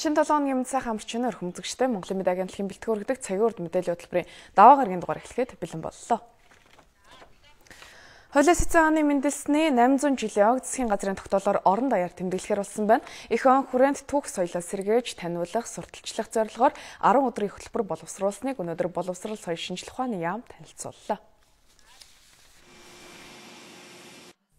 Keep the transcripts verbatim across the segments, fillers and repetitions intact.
Шинэ долоо хоногийн мэд сайхан амарчны өрхөм үзэгчтэй Монголын мэд агентлагийн бэлтгэн өргөдөг цагийн урд мэдээллийн хөтөлбөрийн даваа гарагийн дугаар эхлэхэд бэлэн боллоо. Хуулийн эцэг хааны мэндэлсний найман зуун жилийн ог засгийн газрын тогтоолоор орон даяар тэмдэглэхээр болсон байна. Эх он хүрээнд түүх соёлоо сэргээж таниулах, сурталчлах зорилгоор арван өдрийн хөтөлбөр боловсруулсныг өнөөдөр боловсрол соёл шинжилх ухааны яам танилцууллаа.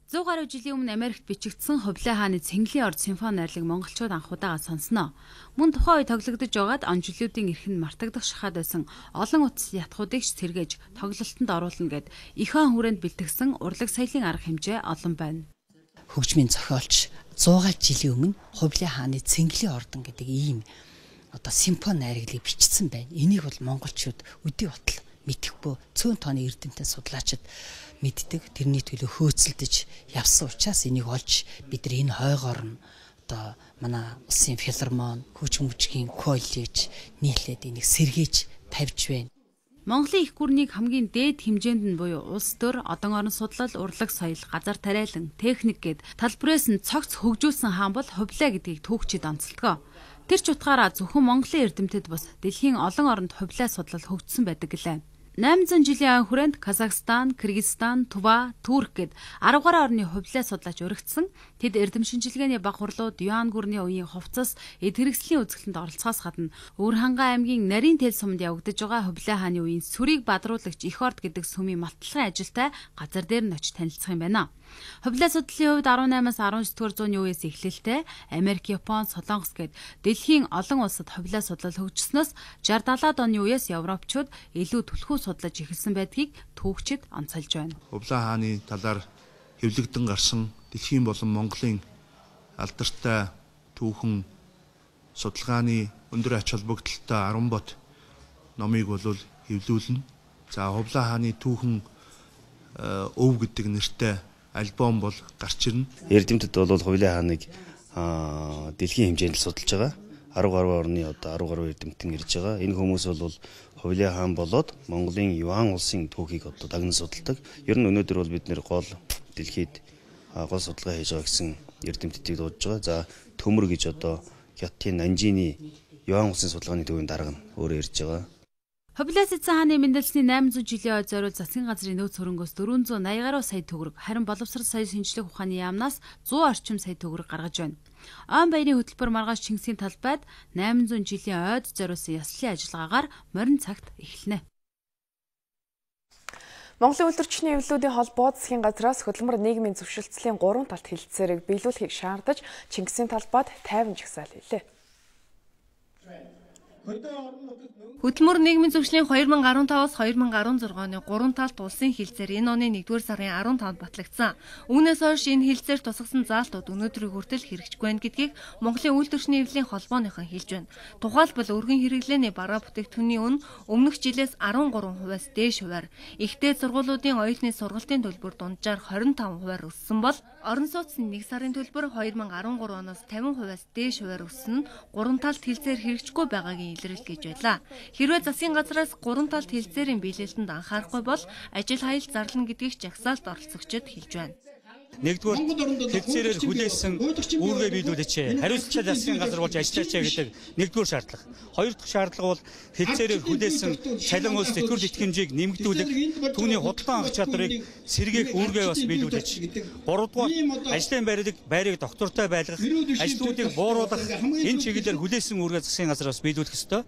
зуун гаруй жилийн өмнө Америкт бичигдсэн Хувлаа хааны Цэнгэлийн орд симфони найрлаг монголчууд анх удаага сонсноо. Мөн тухайн үе тоглогдож байгаад он жилүүдийн эрхэнд мартагдах шахаад байсан олон утас ятгуудыг сэргээж тоглолтод оруулна гэд эх он хүрээнд бэлтгэсэн урлаг соёлын арга хэмжээ олон байна. Хөгжмийн зохиолч зуун гаруй жилийн өмнө Хувлаа хааны Цэнгэлийн ордон гэдэг ийм одоо симфони найрлагыг бичсэн байна. Энийг бол монголчууд өдий батал мэдэхгүй цөөн тооны эрдэмтэн судлаачид мэддэг, тэрний төлөө хөөцөлдөж явсан учраас энийг олж бид нар энэ хойгоор нь одоо манай улсын филармон, хөгжим мужгийн коллеж нийлээд энийг сэргээж тавьж байна. Монголын их гүрнийг хамгийн дээд хэмжээнд нь буюу улс төр, одон орон судлал, урлаг соёл, газар тариалан, техник гэд талбарээс нь цогц хөгжүүлсэн хаан бол Хувлаа гэдгийг түүхчид онцолдог. Тэр ч утгаараа зөвхөн Монголын эрдэмтэд бус дэлхийн олон оронд Хувлаа судлал хөгжсөн байдаг гэлээ. найман зуун жилийн хүрээнд Казахстан, Кыргызстан, Тува, Турк гэд арван гаруй орны Хувлаа судлаач өргөцсөн. Тэд эрдэм шинжилгээний баг хурлууд, Юан гүрний үеийн хувцас, эд хэрэгслийн үзэсгэлэнт оролцохоос гадна Өвөр хангай аймгийн Нарийн тэл сумд явагдаж байгаа Хувлаа хааны үеийн сүрийг бадруулагч Эх орд гэдэг сүмийн малтлагын ажилтай газар дээр нь очиж танилцах юм байна. Хувлаа судлалын хувьд арван наймаас арван дөрөвдүгээр зууны үеэс эхлэлтэй Америк, Япон, Солонгос гэд дэлхийн олон улсад Хувлаа судлал хөгжснөөс шард далаад оны үеэс Европчууд илүү түлхүү судлаж эхэлсэн байдгийг түүхчид онцолж байна. Хувлаа хааны талаар хэвлэгдэн гарсан дэлхийн болон Монголын алдартай түүхэн судалгааны өндөр ач холбогдолтой арван бот номыг бол хэвлүүлнэ. За Хувлаа хааны түүхэн өв гэдэг нэртэй альбом бол гарч ирнэ. Эрдэмтэд бол Хувлаа хааныг дэлхийн хэмжээнд судалж байгаа. арван гаруй орны одоо арван гаруй эрдэмтэн ирж байгаа. Энэ хүмүүс бол Хувлаа хаан болоод Монголын Юан улсын түүхийг одоо дагнан судалдаг. Ер нь өнөөдөр бол бид нэр гол дэлхийд гол судалгаа хийж байгаа гэсэн эрдэмтдийг дуудаж байгаа. За төмөр гэж одоо Хятадын Нанжины Юан улсын судалгааны төвийн дарга нь өөрөө ирж байгаа. Хувлаа эцэг хааны мэндэлсний найман зуун жилийн ой зориул засгийн газрын нөөц хөрөнгөөс дөрвөн зуун наяа гаруй сая төгрөг, харин боловсрол соёл шинжилгээ ухааны яамнаас зуун орчим сая төгрөг гаргаж байна. Он баярын хөтөлбөр маргааш Чингисийн талбайд найман зуун жилийн ойд зориулсан яслын ажиллагаагаар морин цагт эхэлнэ. Монголын үйлдвэрчний эвлэлүүдийн холбоо засгийн газраас хөдөлмөр нийгмийн зөвшөлтслийн гурван талт хэлэлцээрийг биелүүлэхийг шаардаж Чингисийн талбайд тайван жагсаал хийлээ. Хөдөлмөр нийгмийн зөвшлийн хоёр мянга арван таваас хоёр мянга арван зург оны гурван талт улсын хэлэлцээр энэ оны нэгдүгээр сарын арван тавнд батлагдсан. Үүнээс хойш энэ хэлэлцээр тусгасан заалтууд өнөөдрийг хүртэл хэрэгжихгүй байна гэдгийг Монголын үйлдвэрчний эвлэлийн холбооныхон хэлж байна. Тухайлбал өргөн хэрэглээний бараа бүтээгдэхүүний үн өмнөх жилээс арван гурван хувиас дээш хувиар, ихтэй сургуулиудын оюутны сургалтын төлбөр дунджаар хорин таван хувиар өссөн бол орон сууцны нэг сарын төлбөр хоёр мянга арван гурав оноос тавин хувиас дээш хувиар өссөн нь гурван талт хэлэлцээр хэрэгжихгүй байгаагийн илрэл гэж байлаа. Хэрвээ засгийн газраас гурван талт хэлэлцээрийн биелэлтэнд анхаарахгүй бол ажил хаялт зарлана гэдгийг жагсаалт оролцогчид хэлж байна. Нэгдүгээр хэлэлцээрээр хүлээсэн үүргээ биелүүлээч. Хариуцлагатай засгийн газар болж ажиллаач гэдэг нэгдүгээр шаардлага. Хоёр дахь шаардлага бол хэлэлцээрээр хүлээсэн цалин улс тэтгэвэр тэтгэмжийг нэмэгдүүлэх, түүний худалдан авах чадрыг сэргээх үүргээ бас биелүүлээч. Гуравдугаар ажлын байрыг байрыг доктортой байлгах, ажлуудыг бууруулах энэ чиглэлээр хүлээсэн үүргээ засгийн газар бас биелүүлэх ёстой.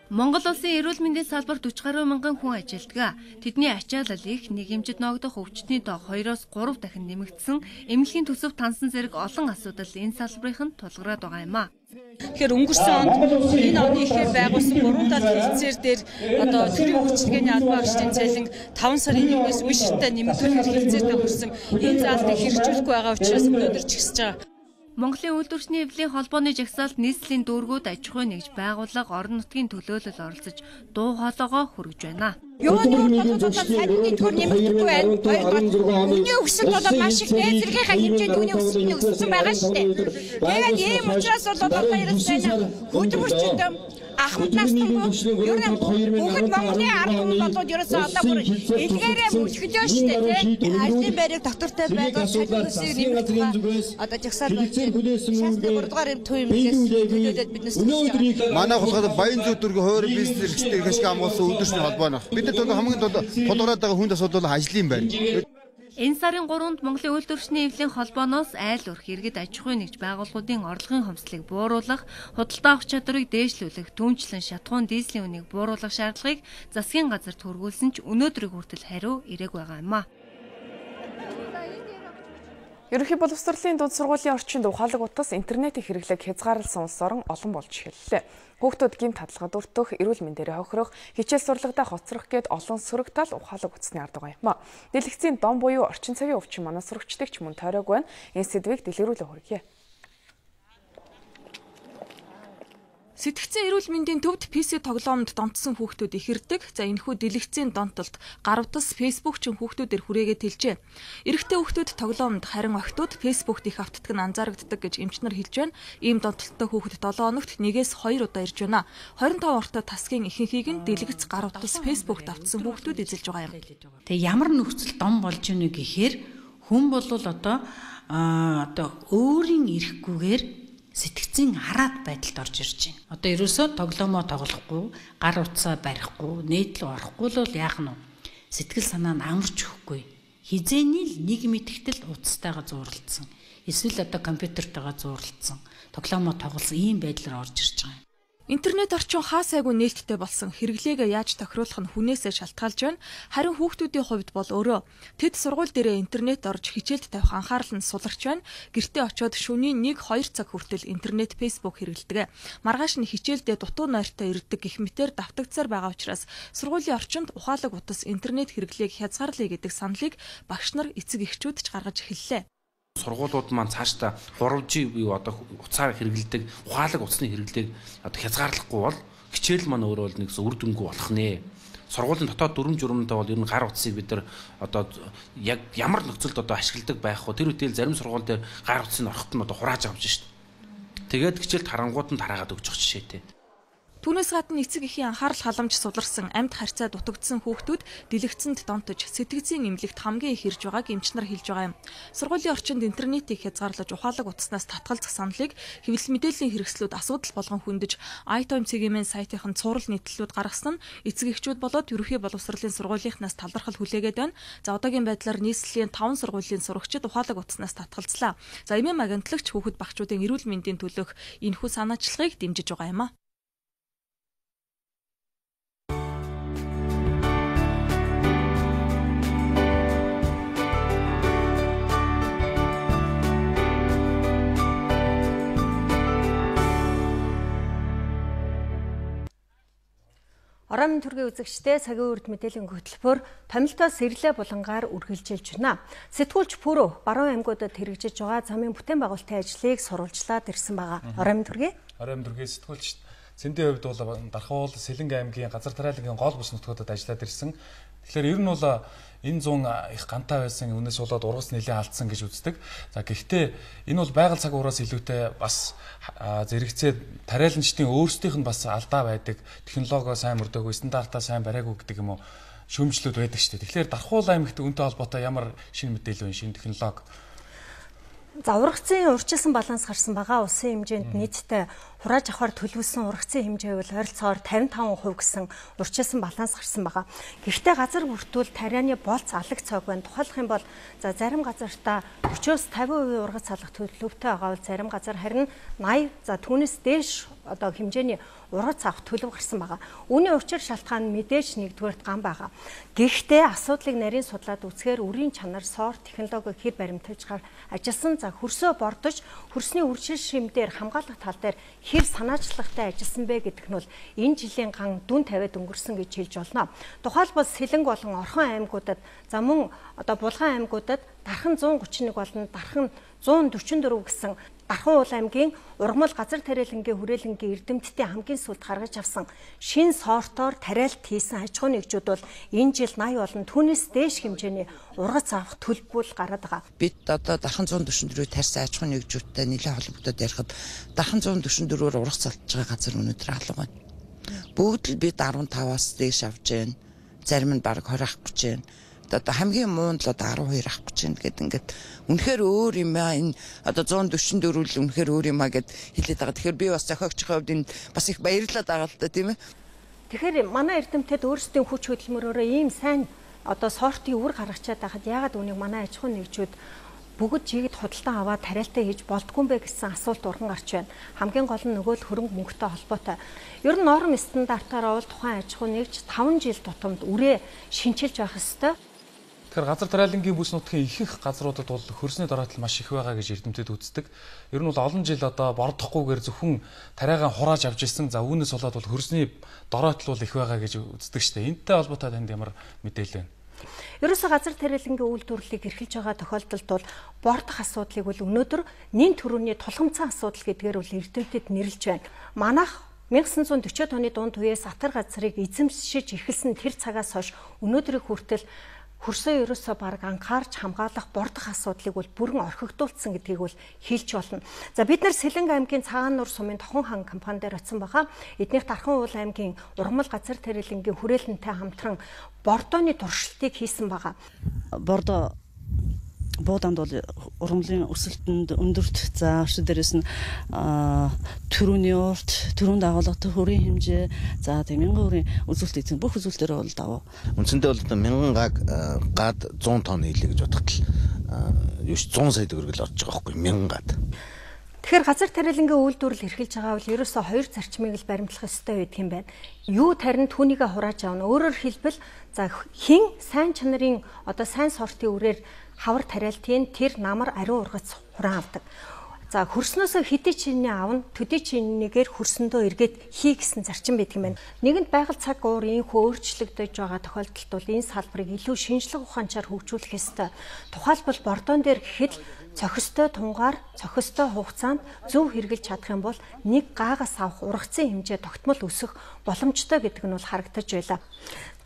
Монгол улсын эрүүл мэндийн салбарт хүч гаруй мянган хүн ажилладаг. Тэдний ачаалал их, нийгэмжид ногдох өвчтний тоо хоёроос гурав дахин нэмэгдсэн, эмнэлгийн төсөв тансан зэрэг олон асуудал энэ салбарын тулгараад байгаа юм а. Тэгэхээр өнгөрсөн онд энэ оны ихээр байгуулсан гурван талт хэлэлцээр дээр одоо төрийн үйлчилгээний албан агчдын цалин таван сарын нэгнээс үе шаттай нэмэгдүүлэх хэлэлцээртэй хүрсэн энэ заалтыг хэрэгжүүлэхгүй байгаа учраас өнөөдөр жигсэж байгаа. Монголын үйлдвэрчний эвлэлийн холбооны жагсаалт нийслэлийн дүүргүүд аж ахуй нэгж байгууллага орон нутгийн төлөөлөл оролцож дуу хоолойгоо хүргэж байна. Юуны салны төр нэмэгдэхгүй байна. Хоёрдугаар үнийн өсөлт бол маш их дээдлэхийнхаа хэмжээнд үнийн өсөлт өссөн байгаа шүү дээ. Тэгээд ийм учраас бол одоо ерөөсөө хөдөлмөрчд ахмад насны ер нь бүгд Монголын ард хүмүүс болоод ерөөсөө одоо бүр илгээрээ мөчгөж шүү дээ тийм. Ажлын байрыг доктортой байгаа салны өсөлт нэмэгдэх одоо жагсаал болж шалтгаан гуравдугаар юм төв юм хэлээд биднээс манай хулгайд баян зүйн дөрөв хойрын бизнес эрхлэлтэй хэшиг амгуулсан өдөршний холбоо нь. Бид нар хамгийн тул тулгараад байгаа хүнд асуудал ажлын байр. Энэ сарын гуравнд Монголын үйлдвэрчний эвлийн холбооноос айл өрх иргэд аж ахуйн нэгж байгууллагуудын орлогын хомсдлыг бууруулах, худалдаа авах чадварыг дээшлүүлэх, түүнчлэн шатахуун дизелийн үнийг бууруулах шаардлагыг засгийн газарт хүргүүлсэн ч өнөөдрийг хүртэл хариу ирээгүй байгаа юм а. Ерөнхий боловсролын дунд сургуулийн орчинд ухаалаг утас интернетийн хэрэглээг хязгаарласан улс орон олон болж эхэллээ. Хүүхдүүд гэмт хадгалгад өртөх, эрүүл мэндээр хохирох, хичээл сурлагадаа хоцрох гэд олон сөрөг тал ухаалаг утасны ард байгаа юм а. Дэлгэцийн дом буюу орчин цагийн өвчин манай сурагчдыг ч мөн тойроогүй байна. Энэ сэдвийг дэлгэрүүлээ хүргье. Сэтгцэн эрүүл мэндийн төвд пи си тоглоомд донтсон хүүхдүүд ихэрдэг. За энэхүү дэлгэцийн донтолд гарвтас фейсбુકчин хүүхдүүдээр хүрээгээд хэлжээ. Эрэгтэй хүүхдүүд тоглоомд, харин охидууд фейсбુકт их автдаг нь анзаарагддаг гэж эмчнэр хэлж байна. Ийм донтолттой хүүхэд долоо хоногт нэгээс хоёр удаа ирж байна. двадцать пять ортой тасгийн ихэнхийг нь дэлгэц гарвтас фейсбુકт автсан хүүхдүүд эзэлж байгаа юм. Тэгээ ямар нөхцөл дом болж ийнэ гэхээр хүн бол одоо одоо өөрийн эрэхгүйгээр сэтгцийн хараад байдалд орж ирж байна. Одоо ерөөсөө тоглоомоо тоглохгүй, гар утсаа барихгүй, нийтлүү орохгүй л яах нь вэ? Сэтгэл санаа нь амарч өгөхгүй. Хизээний л нэг мэдгтэл утастайгаа зууралдсан. Эсвэл одоо компьютертайгаа зууралдсан. Тоглоомоо тоглосон ийм байдлаар орж ирж байгаа юм. Интернет орчин хаа сайгүй нээлттэй болсон хэрэглээгээ яаж тохируулах нь хүнээсээ шалтгаалж байна. Харин хүүхдүүдийн хувьд бол өөрөө тэд сургууль дээрээ интернет орж хичээлд тавих анхаарал нь суларч байна. Гэртээ очиод шөнийн нэг хоёр цаг хүртэл интернет, фейсбુક хэрэглэдэг. Маргааш нь хичээлдээ дутуу нойртой ирдэг гэх мэтээр давтагдсаар байгаа учраас сургуулийн орчинд ухаалаг утас интернет хэрэглээг хязгаарлая гэдэг саналыг багш нар, эцэг эхчүүд ч гаргаж эхэллээ. Сургуулиуд маань цаашдаа гурав жи буюу одоо утсаар хэрэглэдэг ухаалаг утасны хэрэглээг одоо хязгаарлахгүй бол хичээл маань өөрөө нэг үр дүнгүй болох нэ. Сургуулийн дотоод дүрм журмтай бол ер нь гар утсыг бид нар одоо яг ямар нөхцөлд одоо ашигладаг байх вэ? Тэр үедээ зарим сургууль дээр гар утсыг орохт нь одоо хурааж авч шít. Тэгээд хичээлд харангууд нь тараагаад өгч байгаа жишээтэй. Түүнээс гадна эцэг эхийн анхаарал халамж суларсан, амьд харьцаа дутагдсан хүүхдүүд дэлгэцэнд донтож сэтгцийн эмнэлэгт хамгийн их ирж байгааг эмчнэр хэлж байгаа юм. Сургуулийн орчинд интернетийг хязгаарлаж ухаалаг утаснаас татгалзах саналыг хэвлэл мэдээллийн хэрэгслүүд асуудал болгон хөндөж iTime цэгийн сайтынхан цуврал нийтлэлүүд гаргасан нь эцэг эхчүүд болоод ерөнхий боловсролын сургуулийнхнаас талархал хүлээгээд байна. За одоогийн байдлаар нийслэлийн таван сургуулийн сурагчид ухаалаг утаснаас татгалзлаа. За эмэм агентлагч хүүхэд багчуудын эрүүл мэндийн төлөөх энэхүү санаачлагыг дэмжиж байгаа юм а. Орон төргийн үзэгчдээ цагийн үрд мэдээллийн хөтөлбөр томилтоос сэрлээ булангаар үргэлжилж байна. Сэтгүүлч Пүрөө баруун аймагуудад хэрэгжиж байгаа замын бүтээн байгуулалтын ажлыг сурвалжлаад ирсэн байгаа. Орон төргийн Орон төргийн сэтгүүлч Цэндийн хувьд бол Дархавуул, Сэлэнг аймгийн газар тариалангийн гол бүс нутгуудад ажиллаад ирсэн. Тэгэхээр ер нь бол энэ зүүн их гантай байсан үнээс болоод ургас нэлээд алдсан гэж үздэг. За гэхдээ энэ бол байгаль цаг ураас илүүтэй бас зэрэгцээ тариаланчдын өөрсдийнх нь бас алдаа байдаг, технологио сайн мөрдөөгүй, стандартаа сайн бариагүй гэдэг юм уу шүүмжлүүд байдаг шүү дээ. Тэгэхээр Дархавуул аймагт үүнтэй холбоотой ямар шинэ мэдээлэл вэ, шинэ технологи? За ургацын урьдчилсан баланс гарсан байгаа. Улсын хэмжээнд нийтдээ хурааж авахар төлөвлөсөн ургацын хэмжээ бол ойролцоогоор тавин таван хувь гэсэн урьдчилсан баланс гарсан байгаа. Гэхдээ газар бүртгүүл тарианы болц алаг цог байна. Тухайлах юм бол за зарим газартаа forty-оос fifty percent ургац алах төлөвтэй байгаа бол зарим газар харин eighty за түүнээс дээш одоо хэмжээний ургац авах төлөв гарсан байгаа. Үүний учир шалтгаан нь мэдээж нэгдүгээрт гам байгаа. Гэхдээ асуудлыг нарийн судлаад үзэхээр үрийн чанар, соор технологи хэр баримталж ажилласан за хөрсөө бордож хөрсний үржил шимдээр хамгаалах тал дээр хэр санаачлагтай ажилласан бэ гэдэг нь бол энэ жилийн ган дүн тавиад өнгөрсөн гэж хэлж болно. Тухайлбал Сэлэнг болон Орхон аймагуудад за мөн одоо Булган аймагуудад дархан one thirty-one болон дархан зуун дөрвөн дөрөв гэсэн Дархан уул аймгийн ургамал газар тариалангийн хүрээлэнгийн эрдэмтдийн хамгийн сүүлд гаргаж авсан шин сортоор тариалт хийсэн аж ахуйн нэгжүүд бол энэ жил наяа болон түүнээс дээш хэмжээний ургац авах төлбөл гараад байгаа. Бид одоо Дархан зуун дөрвөн дөрөв тарьсан аж ахуйн нэгжүүдтэй нэлээд холбогдоод ярихад Дархан зуун дөрвөн дөрвөөр ургац алдж байгаа газар өнөөдөр алга байна. Бүгд л бид арван таваас дээш авч байна. Зарим нь бараг хорь авах гэж байна. Одоо хамгийн муунд л одоо арван хоёр авах гэж байна гэдэг ингээд үнэхээр өөр юм аа энэ одоо зуун дөрвөн дөрөв л үнэхээр өөр юм аа гэд хэлээд байгаа. Тэгэхээр би бас зохиогчийн хувьд энэ бас их баярлаад байгаа л да тийм ээ. Тэгэхээр манай эрдэмтэд өөрсдийн хүч хөдөлмөрөөрөө ийм сайн одоо сортын үр гаргачаад байхад яагаад үнийг манай аж ахуйн нэгжүүд бүгд жигд худалдан аваад тариалтаа хийж болдгүй юм бэ гэсэн асуулт урган гарч байна. Хамгийн гол нь нөгөө л хөрөнгө мөнгөтэй холбоотой. Ер нь норм стандартаараа бол тухайн аж ахуйн нэгж таван жил тутамд үрээ шинчилж байх ёстой. Тэгэхээр газар тариалангийн бүс нутгийн ихэнх газруудад бол хөрсний дороотол маш их байгаа гэж эрдэмтэд үздэг. Ер нь бол олон жил одоо бордохгүйгээр зөвхөн тариагаа хурааж авч ирсэн. За үүнээс болоод бол хөрсний дороотол бол их байгаа гэж үздэг шүү дээ. Энэтэй холбоотой танд ямар мэдээлэл байна? Ерөөсөө газар тариалангийн үйлдвэрлэлийг эрхэлж байгаа тохиолдолд бол бордох асуудлыг бол өнөөдөр нэн төрөний тулгамцсан асуудал гэдгээр бол эрдэмтэд нэрлэж байна. Манайх 천구 백사십 оны дунд үеэс атар газрыг эзэмшиж эхэлсэн тэр цагаас хойш өнөөдрийг хүртэл хөрсөө ерөөсөө баг анхаарч хамгаалах бордох асуудлыг бол бүрэн орхигдуулсан гэдгийг бол хэлж болно. За бид нар Сэлэнг аймгийн Цагаан нур сумын Тохон хан компани дээр очсон байгаа. Эднийх Дархан уул аймгийн ургамал газар тариалангийн хүрээлэнтэй хамтран бордооны туршилтыг хийсэн байгаа. Бордоо бууданд бол ургамлын өсөлтөнд өндөрт за өшөө дээрээс нь төрөний урт, төрөнд агуулгатай хүрийн хэмжээ, за тийм мянган хүрийн үзүүлэлт эзэн бүх үзүүлэлтээр бол даваа. Үндсэндээ бол мянган гаг гад зуун тонн хийлээ гэж бодоход юу зуун сая төгрөг л орж байгаа байхгүй мянган гад. Тэгэхээр газар тариалангийн үйлдвэрлэл эрхэлж байгаа бол ерөөсөө хоёр зарчмыг л баримтлах ёстой байдаг юм байна. Юу тарин түүнийгээ хурааж авна. Өөрөөр хэлбэл за хин сайн чанарын одоо сайн сортын үрээр хавар тариалтын тэр намар ариун ургац хураан авдаг. За хөрснөөсөө хэдий чиний аавна төдий чинийгээр хөрсөндөө эргээд хий гэсэн зарчим байдаг юм байна. Нэгэнт байгаль цаг уур ийхүү өөрчлөгдөж байгаа тохиолдолд бол энэ салбарыг илүү шинжлэх ухаанчаар хөгжүүлэх ёстой. Тухайлбал бордоон дээр гэхэд цохистой тунгаар, цохистой хугацаанд зөв хэрэгжилж чадах юм бол нэг гаагаас авах ургацын хэмжээ тогтмол өсөх боломжтой гэдэг нь бол харагдаж байлаа.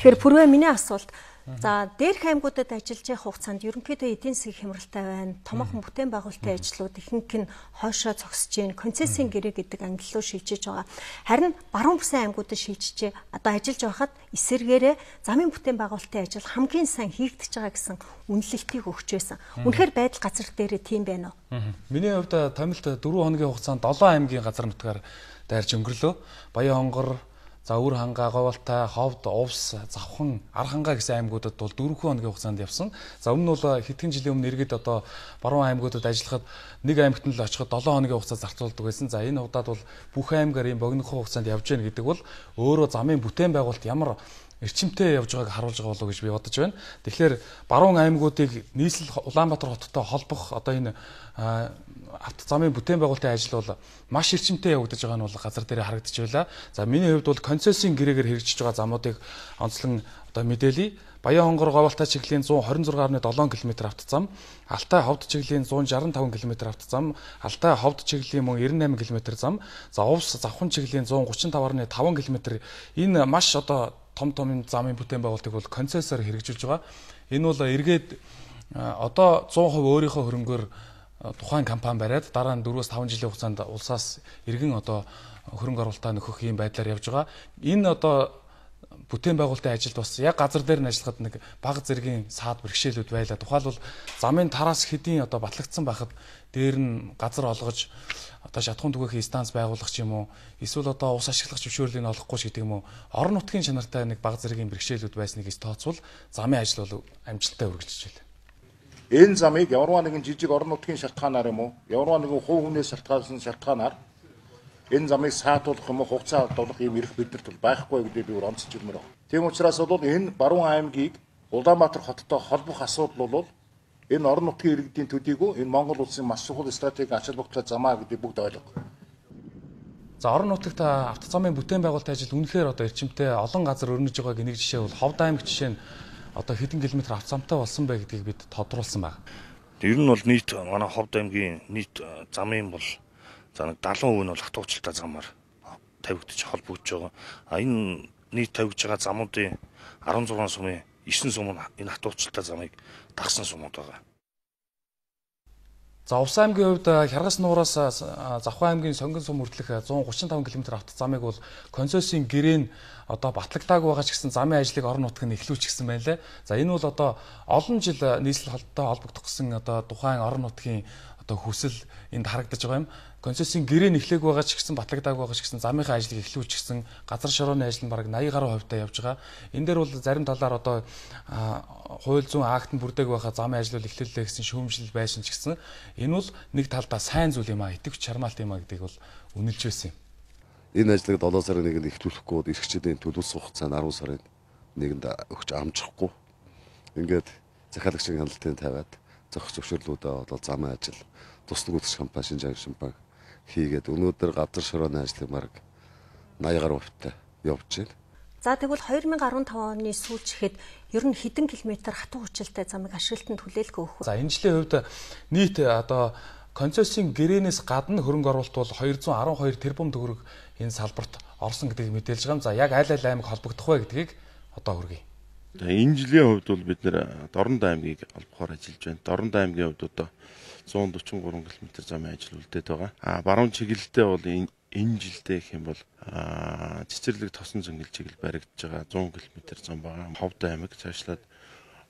Тэгэхээр пүрвэ миний асуулт за дээрх аймагуудад ажиллаж байх хугацаанд ерөнхийдөө эдийн засгийн хямралтай байна. Томоохон бүтээн байгуулалтын ажлууд ихэнх нь хойшоо зогсож байна. Концессийн гэрээ гэдэг ангиллуу шилжиж байгаа. Харин баруун бүсийн аймагуудад шилжиж одоо ажиллаж байхад эсэргээрээ замын бүтээн байгуулалтын ажил хамгийн сайн хийгдэж байгаа гэсэн үнэлэлтийг өгч байсан. Үнэхээр байдал газар дээрээ тийм байна уу? Миний хувьд томилт дөрвөн хоногийн хугацаанд долоон аймгийн газар нутгаар дайрч өнгөрлөө. Баян хонгор, за Өвөр хангаа, Говьалтай, Ховд, Увс, Завхан, Ар хангаа гэсэн аймагуудад бол дөрвөн хоногийн хугацаанд явсан. За өмнө нь бол хэдхэн жилийн өмнө иргэд одоо баруун аймагуудад ажиллахад нэг аймагт нь л очиход долоон хоногийн хугацаа зарцуулдаг байсан. За энэ удаад бол бүх аймгаар ийм богинохон хугацаанд явж гэнэ гэдэг бол өөрөө замын бүтээн байгуулалт ямар эрчимтэй явж байгааг харуулж байгаа болов уу гэж би бодож байна. Тэгэхээр баруун аймагуудыг нийслэл Улаанбаатар хоттой холбох одоо энэ авто замын бүтээн байгуулалтын ажил бол маш эрчимтэй явагдаж байгаа нь бол газар дээр харагдаж байлаа. За миний хувьд бол концессийн гэрээгээр хэрэгжиж байгаа замуудыг онцлон одоо мэдээлье. Баян хонгор Говьалтай чиглэлийн зуун хорин зураг гаруй долоон километр автозам, Алтай Ховд чиглэлийн зуун шаран таван километр автозам, Алтай Ховд чиглэлийн мөн девяносто восемь километр зам, за Увс Завхан чиглэлийн зуун гучин таван километр энэ маш одоо том том замын бүтээн байгуулалтыг бол концессоор хэрэгжүүлж байгаа. Энэ бол эргээд одоо сто процент өөрийнхөө хөрөнгөөр тухайн компани бариад дараа нь дөрвөөс таван жилийн хугацаанд улсаас иргэн одоо хөрөнгө оруулалтаа нөхөх ийм байдлаар явж байгаа. Энэ одоо бүтээн байгуулалтын ажилд бас яг газар дээр нь ажиллахад нэг бага зэргийн саад бэрхшээлүүд байлаа. Тухайлбал замын тараас хэдийн одоо батлагдсан байхад дээр нь газар олгож одоо шатхуун түгээхийн станц байгуулах ч юм уу, эсвэл одоо ус ашиглах зөвшөөрлийг олохгүй ч гэдэг юм уу, орон нутгийн чанартай нэг бага зэргийн бэрхшээлүүд байсныг ис тооцвол замын ажил бол амжилттай үргэлжлэж байна. Энэ замыг ямарваа нэгэн жижиг орон нутгийн шалтгаанаар юм уу, ямарваа нэгэн хувь хүнээс шалтгаалсан шалтгаанаар энэ замыг саатуулах юм уу, хугацаа олох юм эрх биднэрт бол байхгүй гэдгийг би онцолж ирмээр байна. Тийм учраас бол энэ баруун аймгийг Улаанбаатар хоттой холбох асуудал бол энэ орон нутгийн иргэдийн төдийгүй энэ Монгол улсын маш чухал стратегийн ач холбогдолтой замаа гэдэг бүгд ойлгох. За орон нутагт автозамын бүтээн байгуулалтын ажил үнэхээр одоо эрчимтэй олон газар өрнөж байгааг нэг жишээ бол Ховд аймаг жишээ нь одоо хэдэн километр автозамтай болсон бай гэдгийг бид тодруулсан байна. Ер нь бол нийт манай Ховд аймгийн нийт замын бол за нэг дагалан хувь нь бол хатуучлалтай замаар тавигдчих холбогдож байгаа. А энэ нийт тавигдж байгаа замуудын арван зургаан сумын девять сум нь энэ хатуучлалтай замыг дагсан сумууд байгаа. За Увс аймгийн хувьд Хяргас нуураас Завхан аймгийн Сонгон сум хүртэлх зуун гурван таван км автозамыг бол консорциумын гэрээн одоо батлагдаагүй байгаа ч гэсэн замын ажлыг орон нутаг нь эхлүүлчихсэн байна лээ. За энэ бол одоо олон жил нийслэл холбоотой холбогдох гэсэн одоо тухайн орон нутгийн одоо хүсэл энд харагдаж байгаа юм. Консорциумын гэрээн эхлэх байгаа ч гэсэн батлагдаагүй байгаа ч гэсэн замынхаа ажлыг эхлүүлчихсэн, газар шорооны ажил нь бараг восемьдесят гаруй хувьтай явж байгаа. Энэ дээр бол зарим талаар одоо хууль зүйн акт нь бүрдээг байхаа замын ажил эхлүүллээ гэсэн шүүмжлэл байсан ч гэсэн энэ бол нэг талдаа сайн зүйл юм а, итгэвч чармаалт юм а гэдгийг бол үнэлж байсан юм. Энэ ажлыг долоо сарын нэгэнд эхлүүлэхгүй эрхчдийн төлөвлөсөн хугацаанд арван сарын нэгэнд өгч амжихгүй. Ингээд захиалагчийн хяналтын тавиад зохих зөвшөөрлүүдээ бол замын ажил туслах үйлчлэг компани Шинжаан шимбанк хийгээд өнөөдөр газар шорооны ажлыг марг восемьдесят гаруй хувьтай явж байна. За тэгвэл two thousand five оны сүүлч ихэд ер нь хэдэн километр хатуу хүчилтэй замыг ашиглалтанд хүлээлгэх өгөх вэ? За энэ жилийн хувьд нийт одоо консорциумын гэрээнээс гадна хөрөнгө оруулалт бол two hundred twelve тэрбум төгрөг энэ салбарт орсон гэдгийг мэдээлж байгаа юм. За яг аль аль аймаг холбогдох вэ гэдгийг одоо хүргэе. Энэ жилийн хувьд бол бид нэр Дорнод аймгийг олбохоор ажиллаж байна. Дорнод аймгийн хувьд одоо one forty-three км замын ажил үлдээд байгаа. А баруун чиглэлдээ бол энэ энэ жилдээ гэх юм бол цэцэрлэг тосон зөнгөл чиглэл баригдаж байгаа one hundred км зам байгаа. Ховд аймаг цаашлаад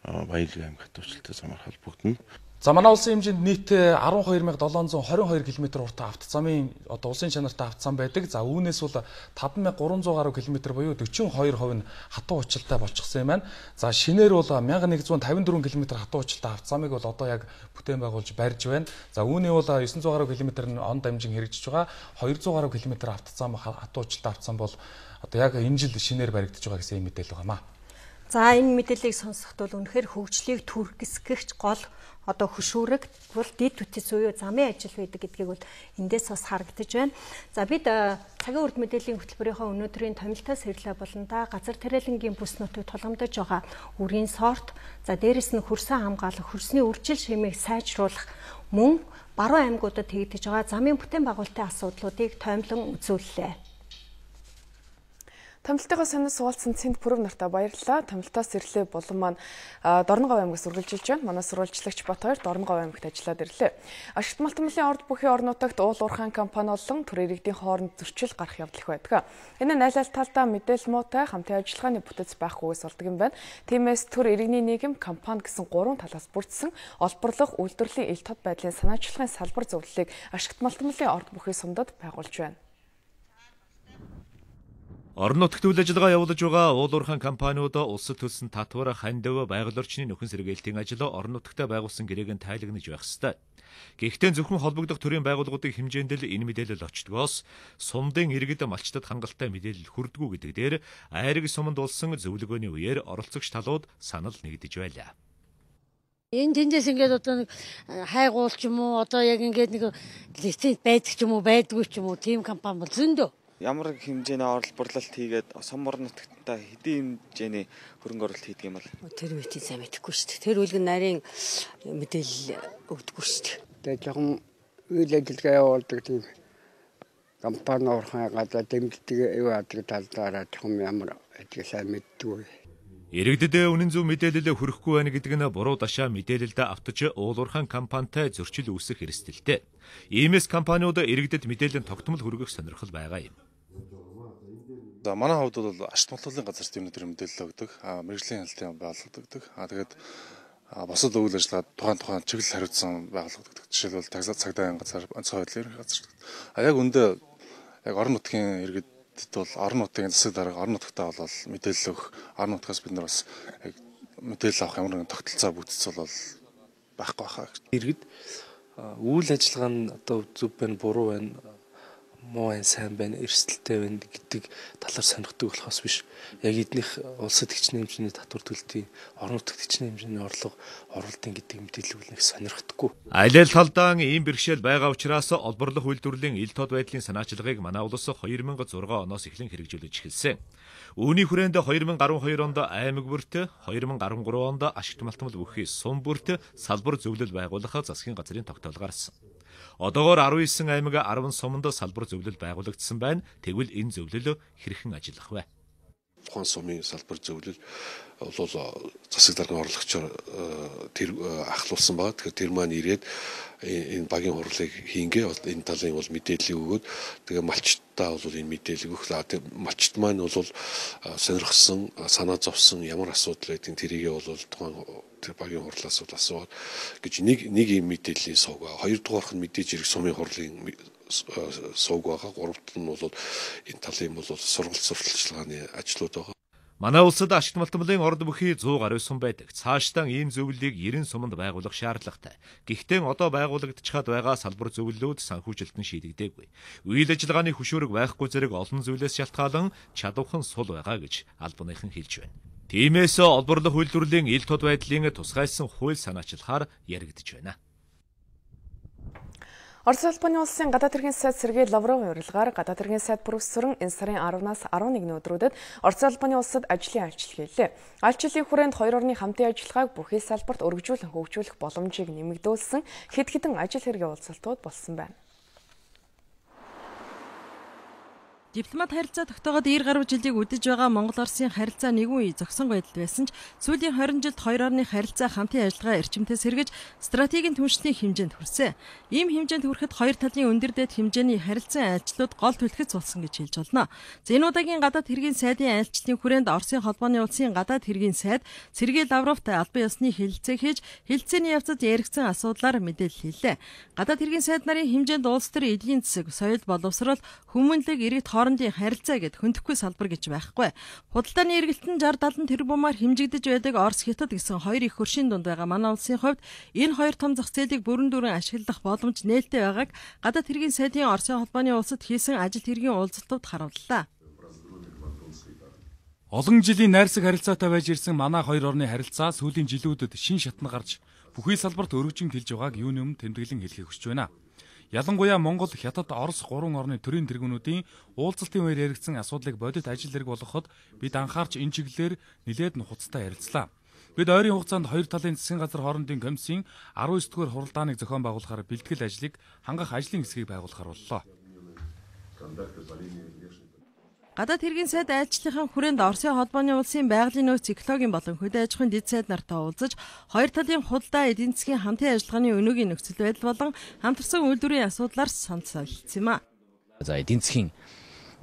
Баярлаг аймаг хатуучилтай замаар холбогдно. За манай улсын хэмжээнд нийт twelve thousand seven hundred twenty-two км уртаа автозамын одоо улсын чанартай автозам байдаг. За үүнээс бол five thousand three hundred гаруй км буюу forty-two percent нь хатуу учиртай болчихсон юм байна. За шинээр бол eleven fifty-four км хатуу учиртай автозамыг бол одоо яг бүтээн байгуулж барьж байна. За үүний бол nine hundred гаруй км нь он дамжин хэрэгжиж байгаа. two hundred гаруй км автозам хатуу учиртай автозам бол одоо яг энэ жил шинээр баригдаж байгаа гэсэн мэдээлэл байгаамаа. За энэ мэдээллийг сонсоход бол үнэхээр хөгжлийг түргэсгэгч гол одоо хөшүүрэг бол дэд үтс буюу замын ажил байдаг гэдгийг бол эндээс бас харагдаж байна. За бид цагийн урд мэдээллийн хөтөлбөрийнхөө өнөөдрийн томилтоос хэрлээ болонда газар тариалангийн бүс нутагт тулгамдж байгаа үрийн сорт, за дээрэс нь хөрсөн хамгаалах, хөрсний үржил шимийг сайжруулах мөн баруун аймагуудад хийгдэж байгаа замын бүтээн байгуулалтын асуудлуудыг тоомлон үзүүллээ. Томилтойгоо сонир суулцсан Цэнд Пүрэв нартай баярлалаа. Томилтоос ирлээ булан маань Дорноговь аймагаас үргэлжилж байна. Манай сурвалжлагч Бат хоёр Дорноговь аймагт ажиллаад ирлээ. Ашигт малтмалын орд бүхий орон нутагт уул уурхайн компани болон төр иргэдийн хооронд зөрчил гарах явдал их байдаг. Энэ нь аль аль талдаа мэдээлэл муутай хамтын ажиллагааны бүтэц байхгүйгээс болдог юм байна. Тиймээс төр иргэний нийгэм компани гэсэн гурван талаас бүрдсэн олборлох үйлдвэрлэлийн ил тод байдлын санаачлагын салбар зөвлөлийг Ашигт малтмалын орд бүхий сумдад байгуулж байна. Орон нутагт үйл ажиллагаа явуулж байгаа уул уурхайн компаниуд улсад төлсөн татвар, хандив, байгаль орчны нөхөн сэргээлтийн ажил орон нутагтаа байгуулсан гэрээг нь тайлагнаж байх ёстой. Гэхдээ зөвхөн холбогдох төрийн байгууллагуудын хэмжээнд л энэ мэдээлэл очдгоос сумдын иргэд малчтад хангалттай мэдээлэл хүрдэггүй гэдэг дээр айраг суманд болсон зөвлөгөөний үеэр оролцогч талууд санал нэгдэж байлаа. Энэ тэндээс ингээд одоо нэг хайгуул ч юм уу одоо яг ингээд нэг лиценз байдаг ч юм уу байдгүй ч юм уу тийм компани бол зөндөө. Ямар хэмжээний орлборлолт хийгээд сумар нутагтаа хэдийн хэмжээний хөрөнгө оруулалт хийдэг юм бол тэр үеийн сайн мэдэхгүй шүү дээ. Тэр үлгэн нарийн мэдээлэл өгдөггүй шүү дээ. Тэгээ жоохон үйл ажиллагаа явуулдаг тийм компани уурхай гадаа дэмждэг юу адаг талдаараа жоохон ямар ажиг сайн мэддэггүй. Иргэдэд үнэн зөв мэдээлэл хүрэхгүй байна гэдэг нь буруу дашаа мэдээлэлд автаж уул уурхайн компанитай зөрчил үүсэх эрсдэлтэй. Иймээс компаниуд иргэдэд мэдээлэл тогтмол хүргэх сонирхол байгаа юм. За манай хувьд бол Ашигт малтмалын газар зүйн өдөр мэдээлэл өгдөг, мэргэжлийн хяналтын байгууллагад а тэгээд босод үйл ажиллагаа тухайн тухайн чиглэл хариуцсан байгууллагад өгдөг. Жишээлбэл цагдаагийн газар, онцгой байдлын ерөнхий газар. А яг үндэ яг орон нутгийн иргэдэд бол орон нутгийн засаг дарга орон нутгатаа бол мэдээлэл өгөх, орон нутгаас бид нар бас яг мэдээлэл авах ямар нэгэн тогтолцоо бүтц бол байхгүй байхаа. Иргэд үйл ажиллагаа нь одоо зөв байна, буруу байна, муу байна, сайн байна, эрсдэлтэй байна гэдэг талаар сонирхдаг болохоос биш. Яг эднийх улсад хичнээн хэмжээний татвар төлөлтийн, орон нутагт хичнээн хэмжээний орлого оруулалтын гэдэг мэдээллийг нэг сонирхдаггүй. Аль аль талдаа ийм бэрхшээл байгаа учраас олборлох үйлдвэрлэлийн ил тод байдлын санаачлагыг манай улс хоёр мянга зургаан оноос эхлэн хэрэгжүүлж эхэлсэн. Үүний хүрээнд хоёр мянга арван хоёр онд аймаг бүрт, хоёр мянга арван гурван онд ашигт малтмал бүхий сум бүрт салбар зөвлөл байгуулах засгийн газрын тогтоол гарсан. Одоогоор арван девять аймаг арван суманд салбар зөвлөл байгуулагдсан байна. Тэгвэл энэ зөвлөл хэрхэн ажиллах вэ? Тухайн сумын салбар зөвлөл бол засаг даргын орлогчоор тэр ахлуулсан байгаа. Тэгэхээр тэр маань ирээд энэ багийн хурлыг хийнгээ энэ талын бол мэдээлэл өгөөд тэгээ малчтаа бол энэ мэдээлэл өгөх. Малчт маань бол сонирхсан, санаа зовсон ямар асуудал байдгийг тэрийгээ бол тухайн тэр багийн хурлаас бол асууад гэж нэг нэг юм мэдээллийн сувг байгаа. Хоёрдугаарх нь мэдээж хэрэг сумын хурлын сувг байгаа. Гуравт нь бол энэ талын бол сургалт сурталчилгааны ажлууд байгаа. Манай улсад ашигт малтмалын орд бүхий сто гаруй сум байдаг. Цаашдаа ийм зөвлөлийг девяносто суманд байгуулах шаардлагатай. Гэхдээ одоо байгуулагдчихад байгаа салбар зөвлөлүүд санхүүжилтэн шийдэгдээгүй. Үйл ажиллагааны хөшөөрөг байхгүй зэрэг олон зүйлээс шалтгаалan чадвархан сул байгаа гэж албаныхан хэлж байна. Тиймээс олборлох үйлдвэрлэлийн ил тод байдлын тусгайлсан хууль санаачлагаар яригдж байна. Орос улбаны улсын гадаад хэргийн сайд Сергей Лавровын урилгаар гадаад хэргийн сайд профессор энэ сарын аравнаас арван нэгний өдрүүдэд Орос улбаны улсад ажлын айлчлал хийлээ. Айлчлалын хүрээнд хоёр орны хамтын ажиллагааг бүхий салбарт өргөжүүлэн хөгжүүлэх боломжийг нэмэгдүүлсэн хэд хэдэн ажил хэргийн уулзалтууд болсон байна. Дипломат харилцаа тогтоогод ир гаруй жилийг үдэж байгаа Монгол-Оросын харилцаа нэгэн үе зогсон байдалд байсан ч сүүлийн хорин жилд хоёр орны харилцаа хамтын ажиллагаа эрчимтэй сэргэж стратегийн түншлэлийн хэмжээнд хүрсэн. Ийм хэмжээнд хүрэхэд хоёр талын өндөр дэд хэмжээний харилцан айлчлалууд гол түлхэц болсон гэж хэлж болно. За энэ удаагийн гадаад хэргийн сайдын айлчлалын хүрээнд Оросын холбооны улсын гадаад хэргийн сайд Сергей Лавровтай албан ёсны хэлэлцээ хийж хэлэлцээний явцад яригдсан асуудлаар мэдээлэл хэллээ. Гадаад хэргийн сайд нарын хэмжээнд улс төр эдийн засаг, соёл боловсрол, хүмүүнлэг, иргэд хоорондын харилцаа гэд хөндөхгүй салбар гэж байхгүй. Худалдааны эргэлтэн шестьдесят седем тэрбумаар хэмжигдэж байдаг Орос, Хятад гэсэн хоёр их хөршийн дунд байгаа манай улсын хувьд энэ хоёр том зах зээлийг бүрэн дүүрэн ашиглах боломж нээлттэй байгааг гадаад хэргийн сайдын Оросын холбооны улсад хийсэн ажил хэргийн уулзалтууд харууллаа. Олон жилийн найрсаг харилцаатай байж ирсэн манай хоёр орны харилцаа сүүлийн жилүүдэд шин шатна гарч бүхий салбарт өргөжин тэлж байгааг юуны өмнө тэмдэглэн хэлхийг хүсэж байна. Ялангуяа Монгол, Хятад, Орос гурван орны төрийн тэргүүнүүдийн уулзалтын үеэр яригдсан асуудлыг бодит ажил хэрэг болгоход бид анхаарч энэ чиглэлээр нэлээд нухацтай ярилцлаа. Бид ойрын хугацаанд хоёр талын засгийн газар хоорондын комиссийн арван девять дугаар хуралдааныг зохион байгуулахаар бэлтгэл ажлыг хангах ажлын хэсгийг байгуулахаар боллоо. Гадаад хэргийн сайд айлчлалын хүрээнд Оросын холбооны улсын байгалийн нөөц экологийн болон хөдөө аж ахуйн дэд сайд нартай уулзаж хоёр талын худалдаа эдийн засгийн хамтын ажиллагааны өнөөгийн нөхцөл байдал болон хамтарсан үйлдвэрийн асуудлаар санал солилцсон юм а. За эдийн засгийн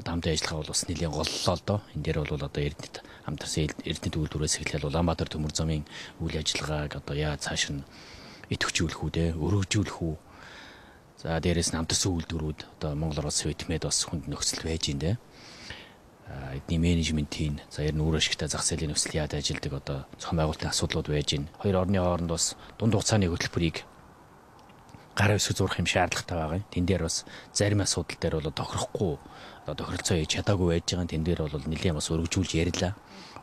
хамтын ажиллагаа бол бас нэлээд голлоо л доо. Энэ дээр бол одоо Эрдэнэт хамтарсан Эрдэнэт үйлдвэрээс эхлээл Улаанбаатар төмөр замын үйл ажиллагааг одоо яа цааш нь идэвхжүүлэх үү, өргөжүүлэх үү. За дээрээс нь хамтарсан үйлдвэрүүд одоо Монгол Орос Вьетнамд бас хүнд нөхцөл байж байна. Эдний менежментийн за ер нь үр ашигтай зах зээлийн нөхцөл яад ажилдаг одоо зохион байгуулалтын асуудлууд байж байна. Хоёр орны хооронд бас дунд хугацааны хөтөлбөрийг гар хэсэг зурх юм шаардлагатай байгаа юм. Тэн дээр бас зарим асуудал дээр бол тохирохгүй одоо тохиролцоо хийж чадаагүй байж байгаа. Тэн дээр бол нэлээд бас өргөжүүлж ярилаа.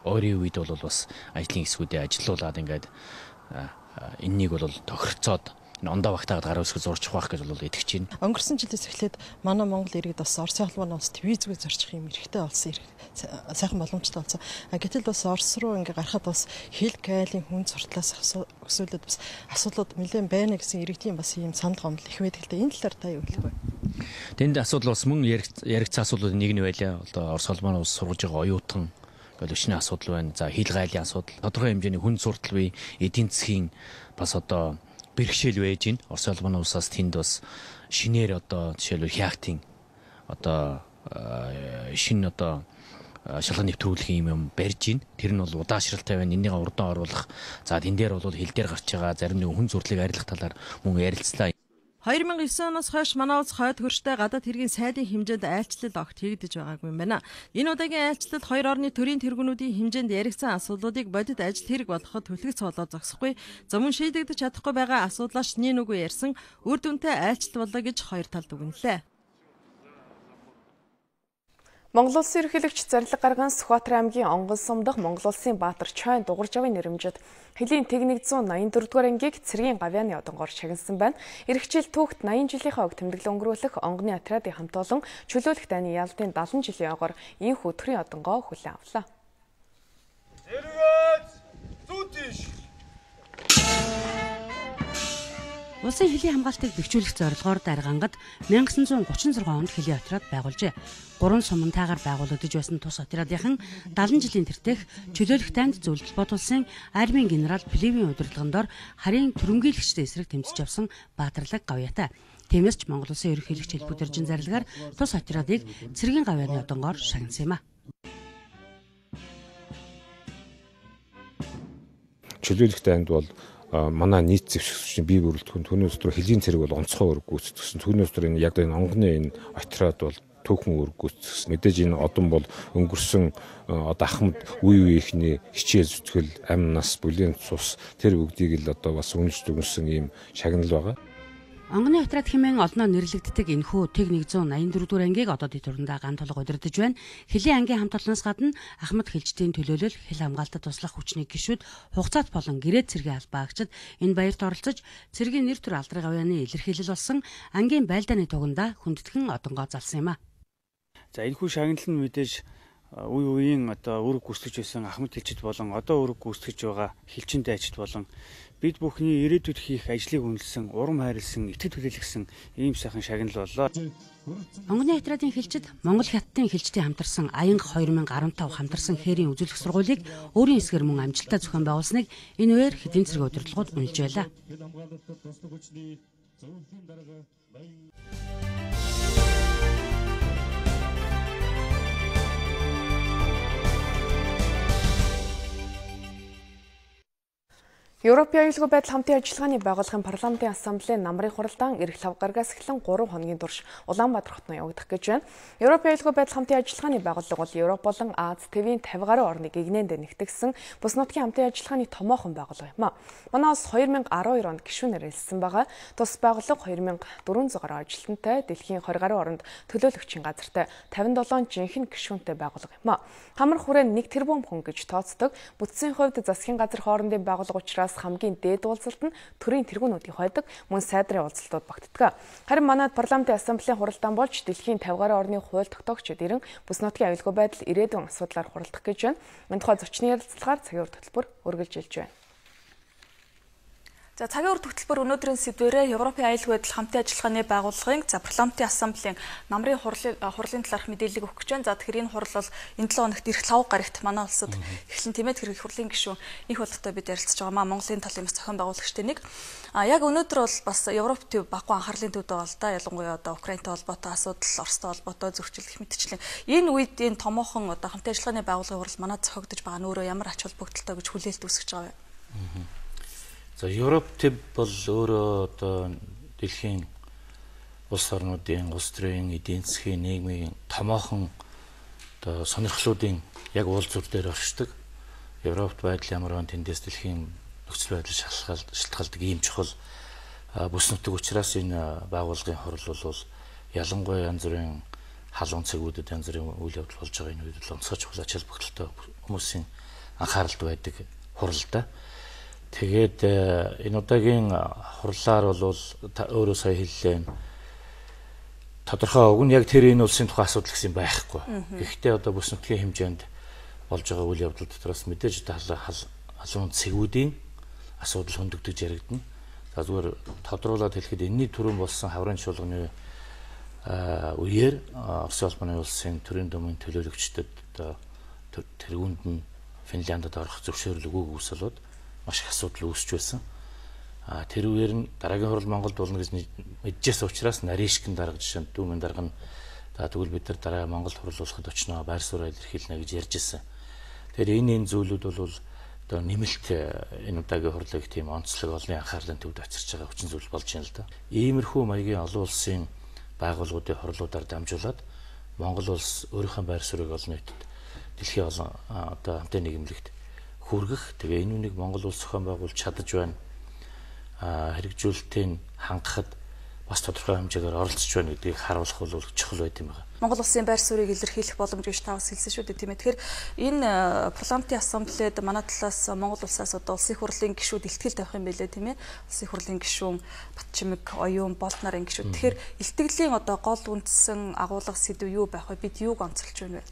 Ойрын үед бол бас ажлын хэсгүүдээ ажилуулад ингээд энэнийг бол тохиролцоод ондоо багтаагаад гар хэсэг зурчих байх гэж бол итгэж байна. Өнгөрсөн жилээс эхлээд манай Монгол иргэд бас Оросын холбооны улсад визгүй зорчих юм эрхтэй болсон, сайхан боломжтой болсон. Гэтэл бас Орос руу ингээ гарахад бас хил гайлын хүн суртлаас өсвөлөд бас асуудлууд нэлээд байна гэсэн иргэдийн бас ийм санал гомдол их байдаг л да. Энэ талаар та юу хэлэх вэ? Тэнд асуудал бас мөн яригдсан асуудлуудын нэг нь байлаа. Одоо Орос холбооны улс сургаж байгаа оюутан галушны асуудал байна. За хил гайлын асуудал, тодорхой хэмжээний хүн суртал бий, эдийн засгийн бас одоо бэрхшээл байж гин. Орос улбаны улсаас тэнд бас шинээр одоо жишээлбэл хяактын одоо шинэ одоо шалган нэвтрүүлэх юм юм барьж гин. Тэр нь бол удаашралтай байна. Энийгээ урдан оруулах. За тэн дээр бол хил дээр гарч байгаа зарим нэг хүн зурлыг арилгах талаар мөн ярилцлаа. хоёр мянга девять оноос хойш манай улс хойд хөрштэй гадаад хэргийн сайдын хэмжээнд айлчлал огт хийгдэж байгаагүй юм байна. Энэ удаагийн айлчлалд хоёр орны төрийн тэргүүнүүдийн хэмжээнд яригдсан асуудлуудыг бодит ажил хэрэг болгоход түлхэгц болоо зогсохгүй. За мөн шийдэгдэж чадахгүй байгаа асуудлаас нин үгүй ярьсан үр дүнтэй айлчлал болоо гэж хоёр тал дүгнэлээ. Монгол Улсын ерөнхийлөгч Зарлиг гарган Сүхбаатар аймгийн Онгон сум дахь Монгол Улсын Баатар Чойн дугуйр жавын нэрэмжид Хэлийн тэг нэг зуун найман дөрөвдүгээр ангийг цэргийн гавьяаны одонгоор шагнасан байна. Ирэх жил түүхт найман жилийнхаа өг тэмдэглэл өнгөрүүлэх онгоны отрядын хамт олон чөлөөлөх дайны ялалтын дагалан жилийн ойгоор энэ хөтгөрийн одонгоо хүлээн авлаа. Улсын Хэлийн хамгаалтыг бэхжүүлэх зорилгоор Даргангад мянга санаа зуун гучин зургаан онд Хэлийн отряд байгуулжээ. Гурван сумантайгаар байгуулагдаж байсан тус отрядынхан дагалан жилийн тэртех чөлөөлөх танд зөвлөлт бодулсан армийн генерал Плевийн удирдлагын дор харийн түрэмгийлэгчтэй эсрэг тэмцэж авсан баатарлаг гавьяатай. Тиймээс ч Монгол Улсын ерөнхийлөгч Илбү Дэржин зарлагаар тус отрядыг цэргийн гавьяаны одонгоор шагнасан юм а. Чөлөөлөх танд бол манай нийт зэвсэгчний бие бүрэлдэхүүн түүнээс дотор Хэлийн цэрэг бол онцгой үүрэг гүйцэтгэсэн. Түүнээс дотор энэ яг энэ онгоны энэ отряд бол түүхэн үүрэг гүйцэтгэсэн. Мэдээж энэ одон бол өнгөрсөн одоо Ахмад үе үеийнхний хичээл зүтгэл, амь нас, бүлийн цус тэр бүгдийг л одоо бас үнэлж дүгнсэн ийм шагнал байгаа. Онгоны отряд хэмээн олноо нэрлэгддэг энэхүү тэг нэг зуун найман дөрөвдүгээр ангийг одоо дэвтүрэндээ ган толго удирдах байна. Хэлийн ангийн хамт олноос гадна Ахмад Хэлжтийн төлөөлөл хэл хамгаалтад туслах хүчний гишүүд хугацаат болон гэрээд цэргийн албаагчид энэ баярт оролцож цэргийн нэр төр алдрын гавьяаны илэрхийлэл болсон ангийн байлдааны туганда хүндэтгэн одонгоо залсан юм а. За энэхүү шагнал нь мэдээж үе үеийн одоо үүрэг гүйцэтгэж байсан Ахмад Хэлжид болон одоо үүрэг гүйцэтгэж байгаа Хэлжинтэй ажид болон бид бүхний ирээдүйд хийх ажлыг үнэлсэн, урам хайрлсан, итгэж хүлээлгсэн ийм сайхан шагнал боллоо. Онгоны отрядын Хэлжид Монгол хятадын Хэлжтэй хамтарсан Аянга хоёр мянга арван тав хамтарсан хээрийн үзүүлэх сургуулийг өөрийн эсгээр мөн амжилттай зохион байгуулсныг энэ үеэр хэдийн цэргийн удирдлагууд үнэлж байлаа. Европын аюулгүй байдал хамтын ажиллагааны байгууллагын парламентын ассамблеийн намрын хуралдаан эх лав гарагаас эхлэн гурван хоногийн турш Улаанбаатар хотод явагдах гэж байна. Европын аюулгүй байдал хамтын ажиллагааны байгууллага бол Европ болон Аз, Тэвийн пятьдесят гаруй орныг игнэнд нэгтгэсэн бүс нутгийн хамтын ажиллагааны томоохон байгууллага юм а. Манай улс хоёр мянга арван хоёр онд гишүүнээр элсэн байгаа. Тус байгууллага хоёр мянга дөрвөн зуун гаруй ажилтнтай, дэлхийн двадцать гаруй оронд төлөөлөгчийн газартай тавьдаа седем жинхэнэ гишүүнтэй байгууллага юм а. Хамар хүрээнд нэг тэрбум хүн гэж тооцдог. Бүтцийн хувьд засгийн газар хоорондын байгууллага учраас хамгийн дээд уулзалт нь төрийн тэргүүнүүдийн хойдог мөн сайдрын уулзалтууд багтдаг. Харин манайд парламентын ассамблеийн хуралдаан болж дэлхийн пятьдесят гаруй орны хууль тогтоогчид ирэн бүс нутгийн аюулгүй байдал ирээдүйн асуудлаар хуралдах гэж байна. Энэ тухай зочны ярилцлагаар цагийн үр хөтөлбөр үргэлжилж байна. За цагийн үр хөтөлбөр өнөөдрийн сэдвээрээ Европын аюулгүй байдал хамтын ажиллагааны байгууллагын за парламентын ассамблеийн намрын хурлын хурлын талаарх мэдээллийг өгөх гэж байна. За тэгэхээр энэ хурал бол энэ долоо хоногт ирэх лав гарагт манай улсад эхлэн тэмээд хэрэг хурлын гишүүн их болтой бид ярилцж байгаа маа Монголын талын бас зохион байгуулагчтай нэг. А яг өнөөдөр бол бас Европ төв баггүй анхаарлын төвд байгаа л да. Ялангуяа одоо Украинтай холбоотой асуудал, Оростой холбоотой зөрчил гэх мэтчлэн энэ үед энэ томоохон одоо хамтын ажиллагааны байгууллагын хурал манад зохиогдож байгаа нь өөрөө ямар ач холбогдолтой гэж хүлээлт үүсгэж байгаа вэ? За Европ төв бол өөрөө одоо дэлхийн улс орнуудын, улс төрийн, эдийн засгийн, нийгмийн томоохон одоо сонирхлуудын яг уул зүр дээр оршдог. Европт байдал ямар вэ тэндээс дэлхийн нөхцөл байдал шалтгаалдаг ийм чухал бүс нутаг учраас энэ байгууллагын хурал бол ялангуяа янз бүрийн халуун цэгүүдэд янз бүрийн үйл явдал болж байгаа энэ үед бол онцгой чухал ач холбогдолтой хүмүүсийн анхааралд байдаг хурал да. Тэгээд энэ удаагийн хурлаар бол өөрөө сая хэллээ. Тодорхой уг нь яг тэр энэ улсын тухай асуудал гэсэн байхгүй. Гэхдээ одоо бүс нутгийн хэмжээнд болж байгаа үйл явдал дотроос мэдээж халуун цэгүүдийн асуудал хөндөгдөж яригдана. За зүгээр тодруулаад хэлэхэд энэний түрүүн болсон хаврын чуулганы үеэр Оросын улбаны улсын төрийн думын төлөөлөгчдөд одоо тэргүүнд нь Финляндд орох зөвшөөрөл өгөөг үүсэлээд маш их асуудал үүсч байсан. А тэр үеэр нь дараагийн хурал Монголд болно гэж мэдчихсэн учраас Наришкин дарга жишээ нь дүүмэн дарга нь за тэгвэл бид нар дараа Монголд хурал болоход очноо байр сууриа илэрхийлнэ гэж ярьж ирсэн. Тэгэхээр энэ энэ зүйлүүд бол одоо нэмэлт энэ удаагийн хурлыг тийм онцлог олонний анхаарлын төвд очирч байгаа хүчин зүйл болж байна л да. Иймэрхүү маягийн олон улсын байгууллагуудын хурлуудаар дамжуулаад Монгол улс өөрийнхөө байр суурийг олон нийтэд дэлхийн олон одоо хамтын нийгэмлэгт хүргэх тэгээ энэ үнийг Монгол улс зохион байгуулж чадаж байна. А хэрэгжүүлэлтийн хангахад бас тодорхой хэмжээгээр оролцож байна гэдгийг харуулах бол чухал байт юм байна. Монгол улсын байр суурийг илэрхийлэх боломж гэж та бас хэлсэн шүү дээ тийм ээ. Тэгэхээр энэ парламентын ассамблеэд манай талаас Монгол улсаас одоо улсын хурлын гишүүд илтгэл тавих юм байлээ тийм ээ. Улсын хурлын гишүүн Батчимэг, Оюун, Болд нарын гишүүд. Тэгэхээр илтгэлийн одоо гол үндсэн агуулга сэдв юу байх вэ? Бид юуг онцолж байна вэ?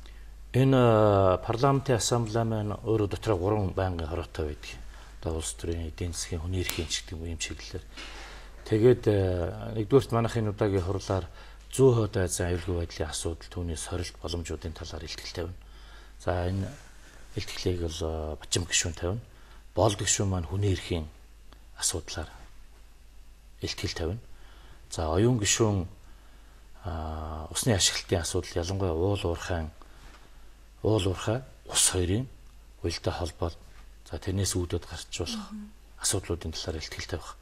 Энэ парламентын ассамбле маань өөрөө дотроо гурван байнгын хороотой байдаг. Одоо улс төрийн эдийн засгийн хүний эрхийн ч гэдэг юм чиглэлээр. Тэгээд нэгдүгээрт манайхын удаагийн хурлаар зүүн хойд Азийн аюулгүй байдлын асуудал, түүний сорилт боломжуудын талаар илтгэл тавина. За энэ илтгэлийг бол Батчим гишүүн тавина. Болд гишүүн маань хүний эрхийн асуудлаар илтгэл тавина. За оюун гишүүн усны ашиглалтын асуудал, ялангуяа уул уурхайн уул уурхай ус хоёрын уялдаа холбоод за тэрнээс үүдээд гарч болох асуудлуудын талаар илтгэл тавих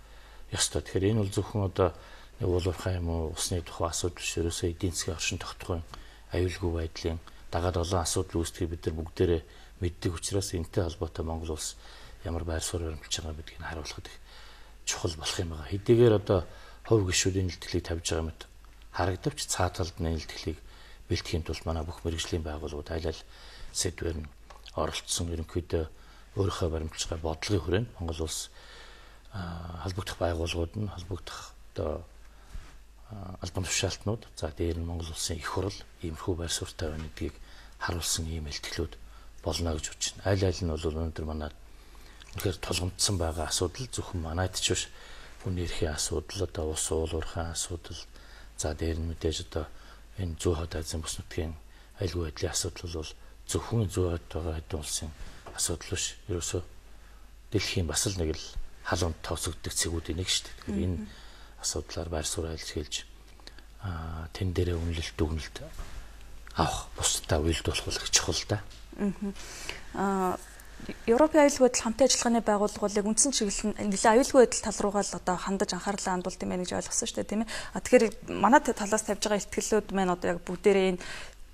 ёстой. Тэгэхээр энэ бол зөвхөн одоо уул уурхай юм уу усны тухай асуудал биш, ерөөсөө эдийн засгийн оршин тогтгохын аюулгүй байдлын дагаад олон асуудал үүсдгийг бид нар бүгдээрээ мэддэг учраас энэтэй холбоотой Монгол улс ямар байр суурь баримталж байгаа гэдгийг харуулхад их чухал болох юм байна. Хэдийгээр одоо хувь гишүүдийн илтгэлийг тавьж байгаа мэт харагдавч цаа талд нь илтгэлийг бэлтгэхийн тулд манай бүх мэргэжлийн байгууллагууд аль аль сэдвээр нь оролцсон. Ерөнхийдөө өөрийнхөө баримталж байгаа бодлогын хүрээнд Монгол улс холбогдох байгууллагууд нь холбогдох одоо албан тушаалтнууд за дээр нь Монгол улсын их хурл иймэрхүү байр суурьтай байна гэдгийг харуулсан ийм илтгэлүүд болно гэж бодож байна. Аль аль нь бол өнөөдөр манайд үнэхээр тулгамдсан байгаа асуудал зөвхөн манайд ч биш, хүний эрхийн асуудал, одоо ус уул уурхайн асуудал, за дээр нь мэдээж одоо энэ зүүн хойд Азийн бүс нутгийн аюулгүй байдлын асуудал бол зөвхөн зүүн хойд байгаа хэдэн улсын асуудал биш. Ерөөсөө дэлхийн бас л нэг л халуунд тооцогддог цэгүүдийн нэг шүү дээ. Тэгэхээр энэ асуудлаар байр суурь илэрхийлж аа тэн дээрээ үнэлэлт дүгнэлт авах бусдаа уйлдуулах бол их чухал да. Аа Европын аюулгүй байдал хамтын ажиллагааны байгууллагыг үндсэн чиглэл нь нэлээд аюулгүй байдал тал руугаа л одоо хандаж анхаарлаа хандуулт юм байна гэж ойлгосон шүү дээ тийм ээ. А тэгэхээр манай талаас тавьж байгаа ихтгэлүүд маань одоо яг бүгдээрээ энэ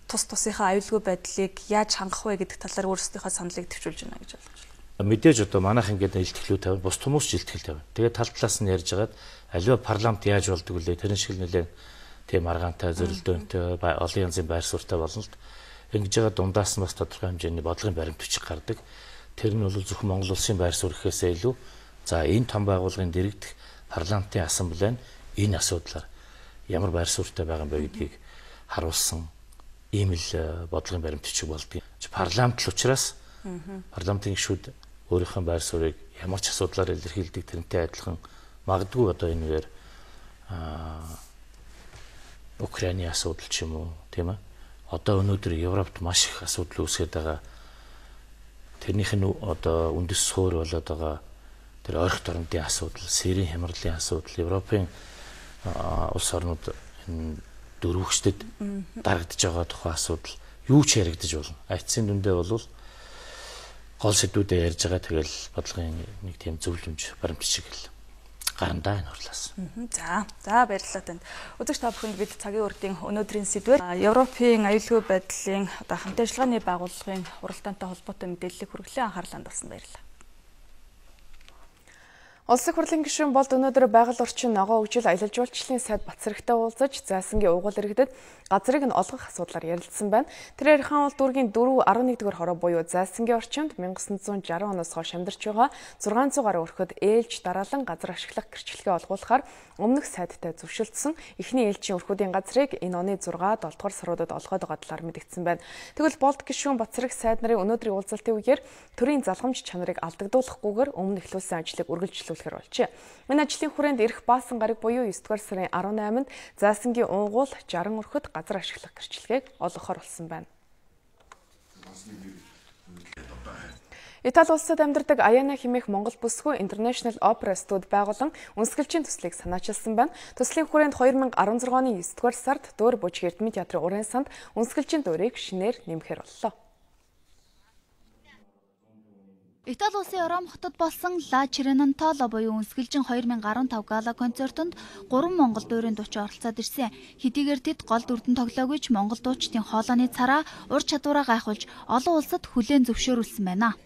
тус тусынхаа аюулгүй байдлыг яаж хангах вэ гэдэг талаар өөрсдийнхөө саналыг төвчүүлж байна гэж ойлгож байна. Мэдээж одоо манайх ингээд илтгэлүүд тавина, бус хүмүүс ч илтгэл тавина. Тэгээд тал талаас нь ярьж байгаад аливаа парламент яаж болдог вэ? Тэрэн шиг нэлээд тийм аргаантай, зөрөлдөөнтэй, олон янзын байр суурьтай болно л. Ингэж байгаа дундаас нь бас тодорхой хэмжээний бодлогын баримт бичиг гардаг. Тэр нь бол зөвхөн Монгол улсын байр суурь гэхээсээ илүү за энэ том байгууллагын дэргэдэх парламентын ассамбле нь энэ асуудлаар ямар байр суурьтай байгаа юм бэ гэдгийг харуулсан ийм л бодлогын баримт бичиг болдгийг. Парламент л учраас парламентын гишүүд өөрийнхөө байр суурийг ямар ч асуудлаар илэрхийлдэг, тэрнтэй адилхан магадгүй одоо энэгээр Украины асуудал ч юм уу тийм ээ. Одоо өнөөдөр Европт маш их асуудал үүсгээд байгаа. Тэрнийх нь одоо үндэс суурь болоод байгаа тэр ойрхон орнуудын асуудал, Сирийн хямралын асуудал, Европын улс орнууд энэ дөрвөгчдөд дарагдж байгаа тухай асуудал юу ч яригдаж болно. Айцсын дүндээ бол гол сэдвүүдээ ярьж байгаа тэгэл бодлогын нэг тийм зөвлөмж баримт бичиг л гарандаа энэ хурлаас. За, за баярлалаа танд. Өдөрт та бүхэнд бид цагийн үрдийн өнөөдрийн сэдвээр Европын аюулгүй байдлын одоо хамтын ажиллагааны байгууллагын уралдаантай холбоотой мэдээллийг хүргэлэн анхаарлаа хандуулсан баярлалаа. Улсын хурлын гишүүн Болд өнөөдөр байгаль орчин ногоо хөгжил аялал жуулчлалын сайд Бацрагтай уулзаж зайсангийн угуул иргэдэд газрыг нь олгох асуудлаар ярилцсан байна. Тэр ярихаан бол дүүргийн дөрөв арван нэгдүгээр хороо буюу зайсангийн орчинд 천구 сарсаж оноос хойш амьдарч байгаа зургаан зуун гаруй өрхөд ээлж дараалан газар ашиглах гэрчлэгээ олгуулахаар өмнөх сайдтай зөвшөлдсөн эхний ээлжийн өрхүүдийн газрыг энэ оны зургаа долдугаар саруудад олгоод байгаа талаар мэдгдсэн байна. Тэгвэл Болд гишүүн Бацраг сайд нарын өнөөдрийн уулзалтын үеэр төрийн залхамж чанарыг алдагдуулахгүйгээр өмнө эхлүүлсэн ажлыг үргэлжлүүлэхээр болжээ. Энэ ажлын хүрээнд ирэх баасан гараг буюу есдүгээр сарын арван найманд зайсангийн унгуул жарган өрхөд газар ашиглах гэрчлэгийг олгохоор болсон байна. Итали улсад амьдардаг Аяна хэмээх Монгол бүсгүй International Opera Studio байгуулан үнсгэлжийн төслийг санаачилсан байна. Төслийн хүрээнд две тысячи десять оны есдүгээр сард Дөөр Бужиг Эрдэмэд театрын уран санд үнсгэлжийн дуурийг шинээр нэмэхээр боллоо. Итали улсын Ром хотод болсон Ла Черенантола буюу үнсгэлжин две тысячи десять гала концертонд гурван монгол дуурийн дуучин оролцоод ирсэн. Хэдийгээр тэд гол дүрдэн тоглоогүй ч монгол дуучдын хоолойны цараа ур чадвараа гайхуулж олон улсад хүлээн зөвшөөрүүлсэн байна.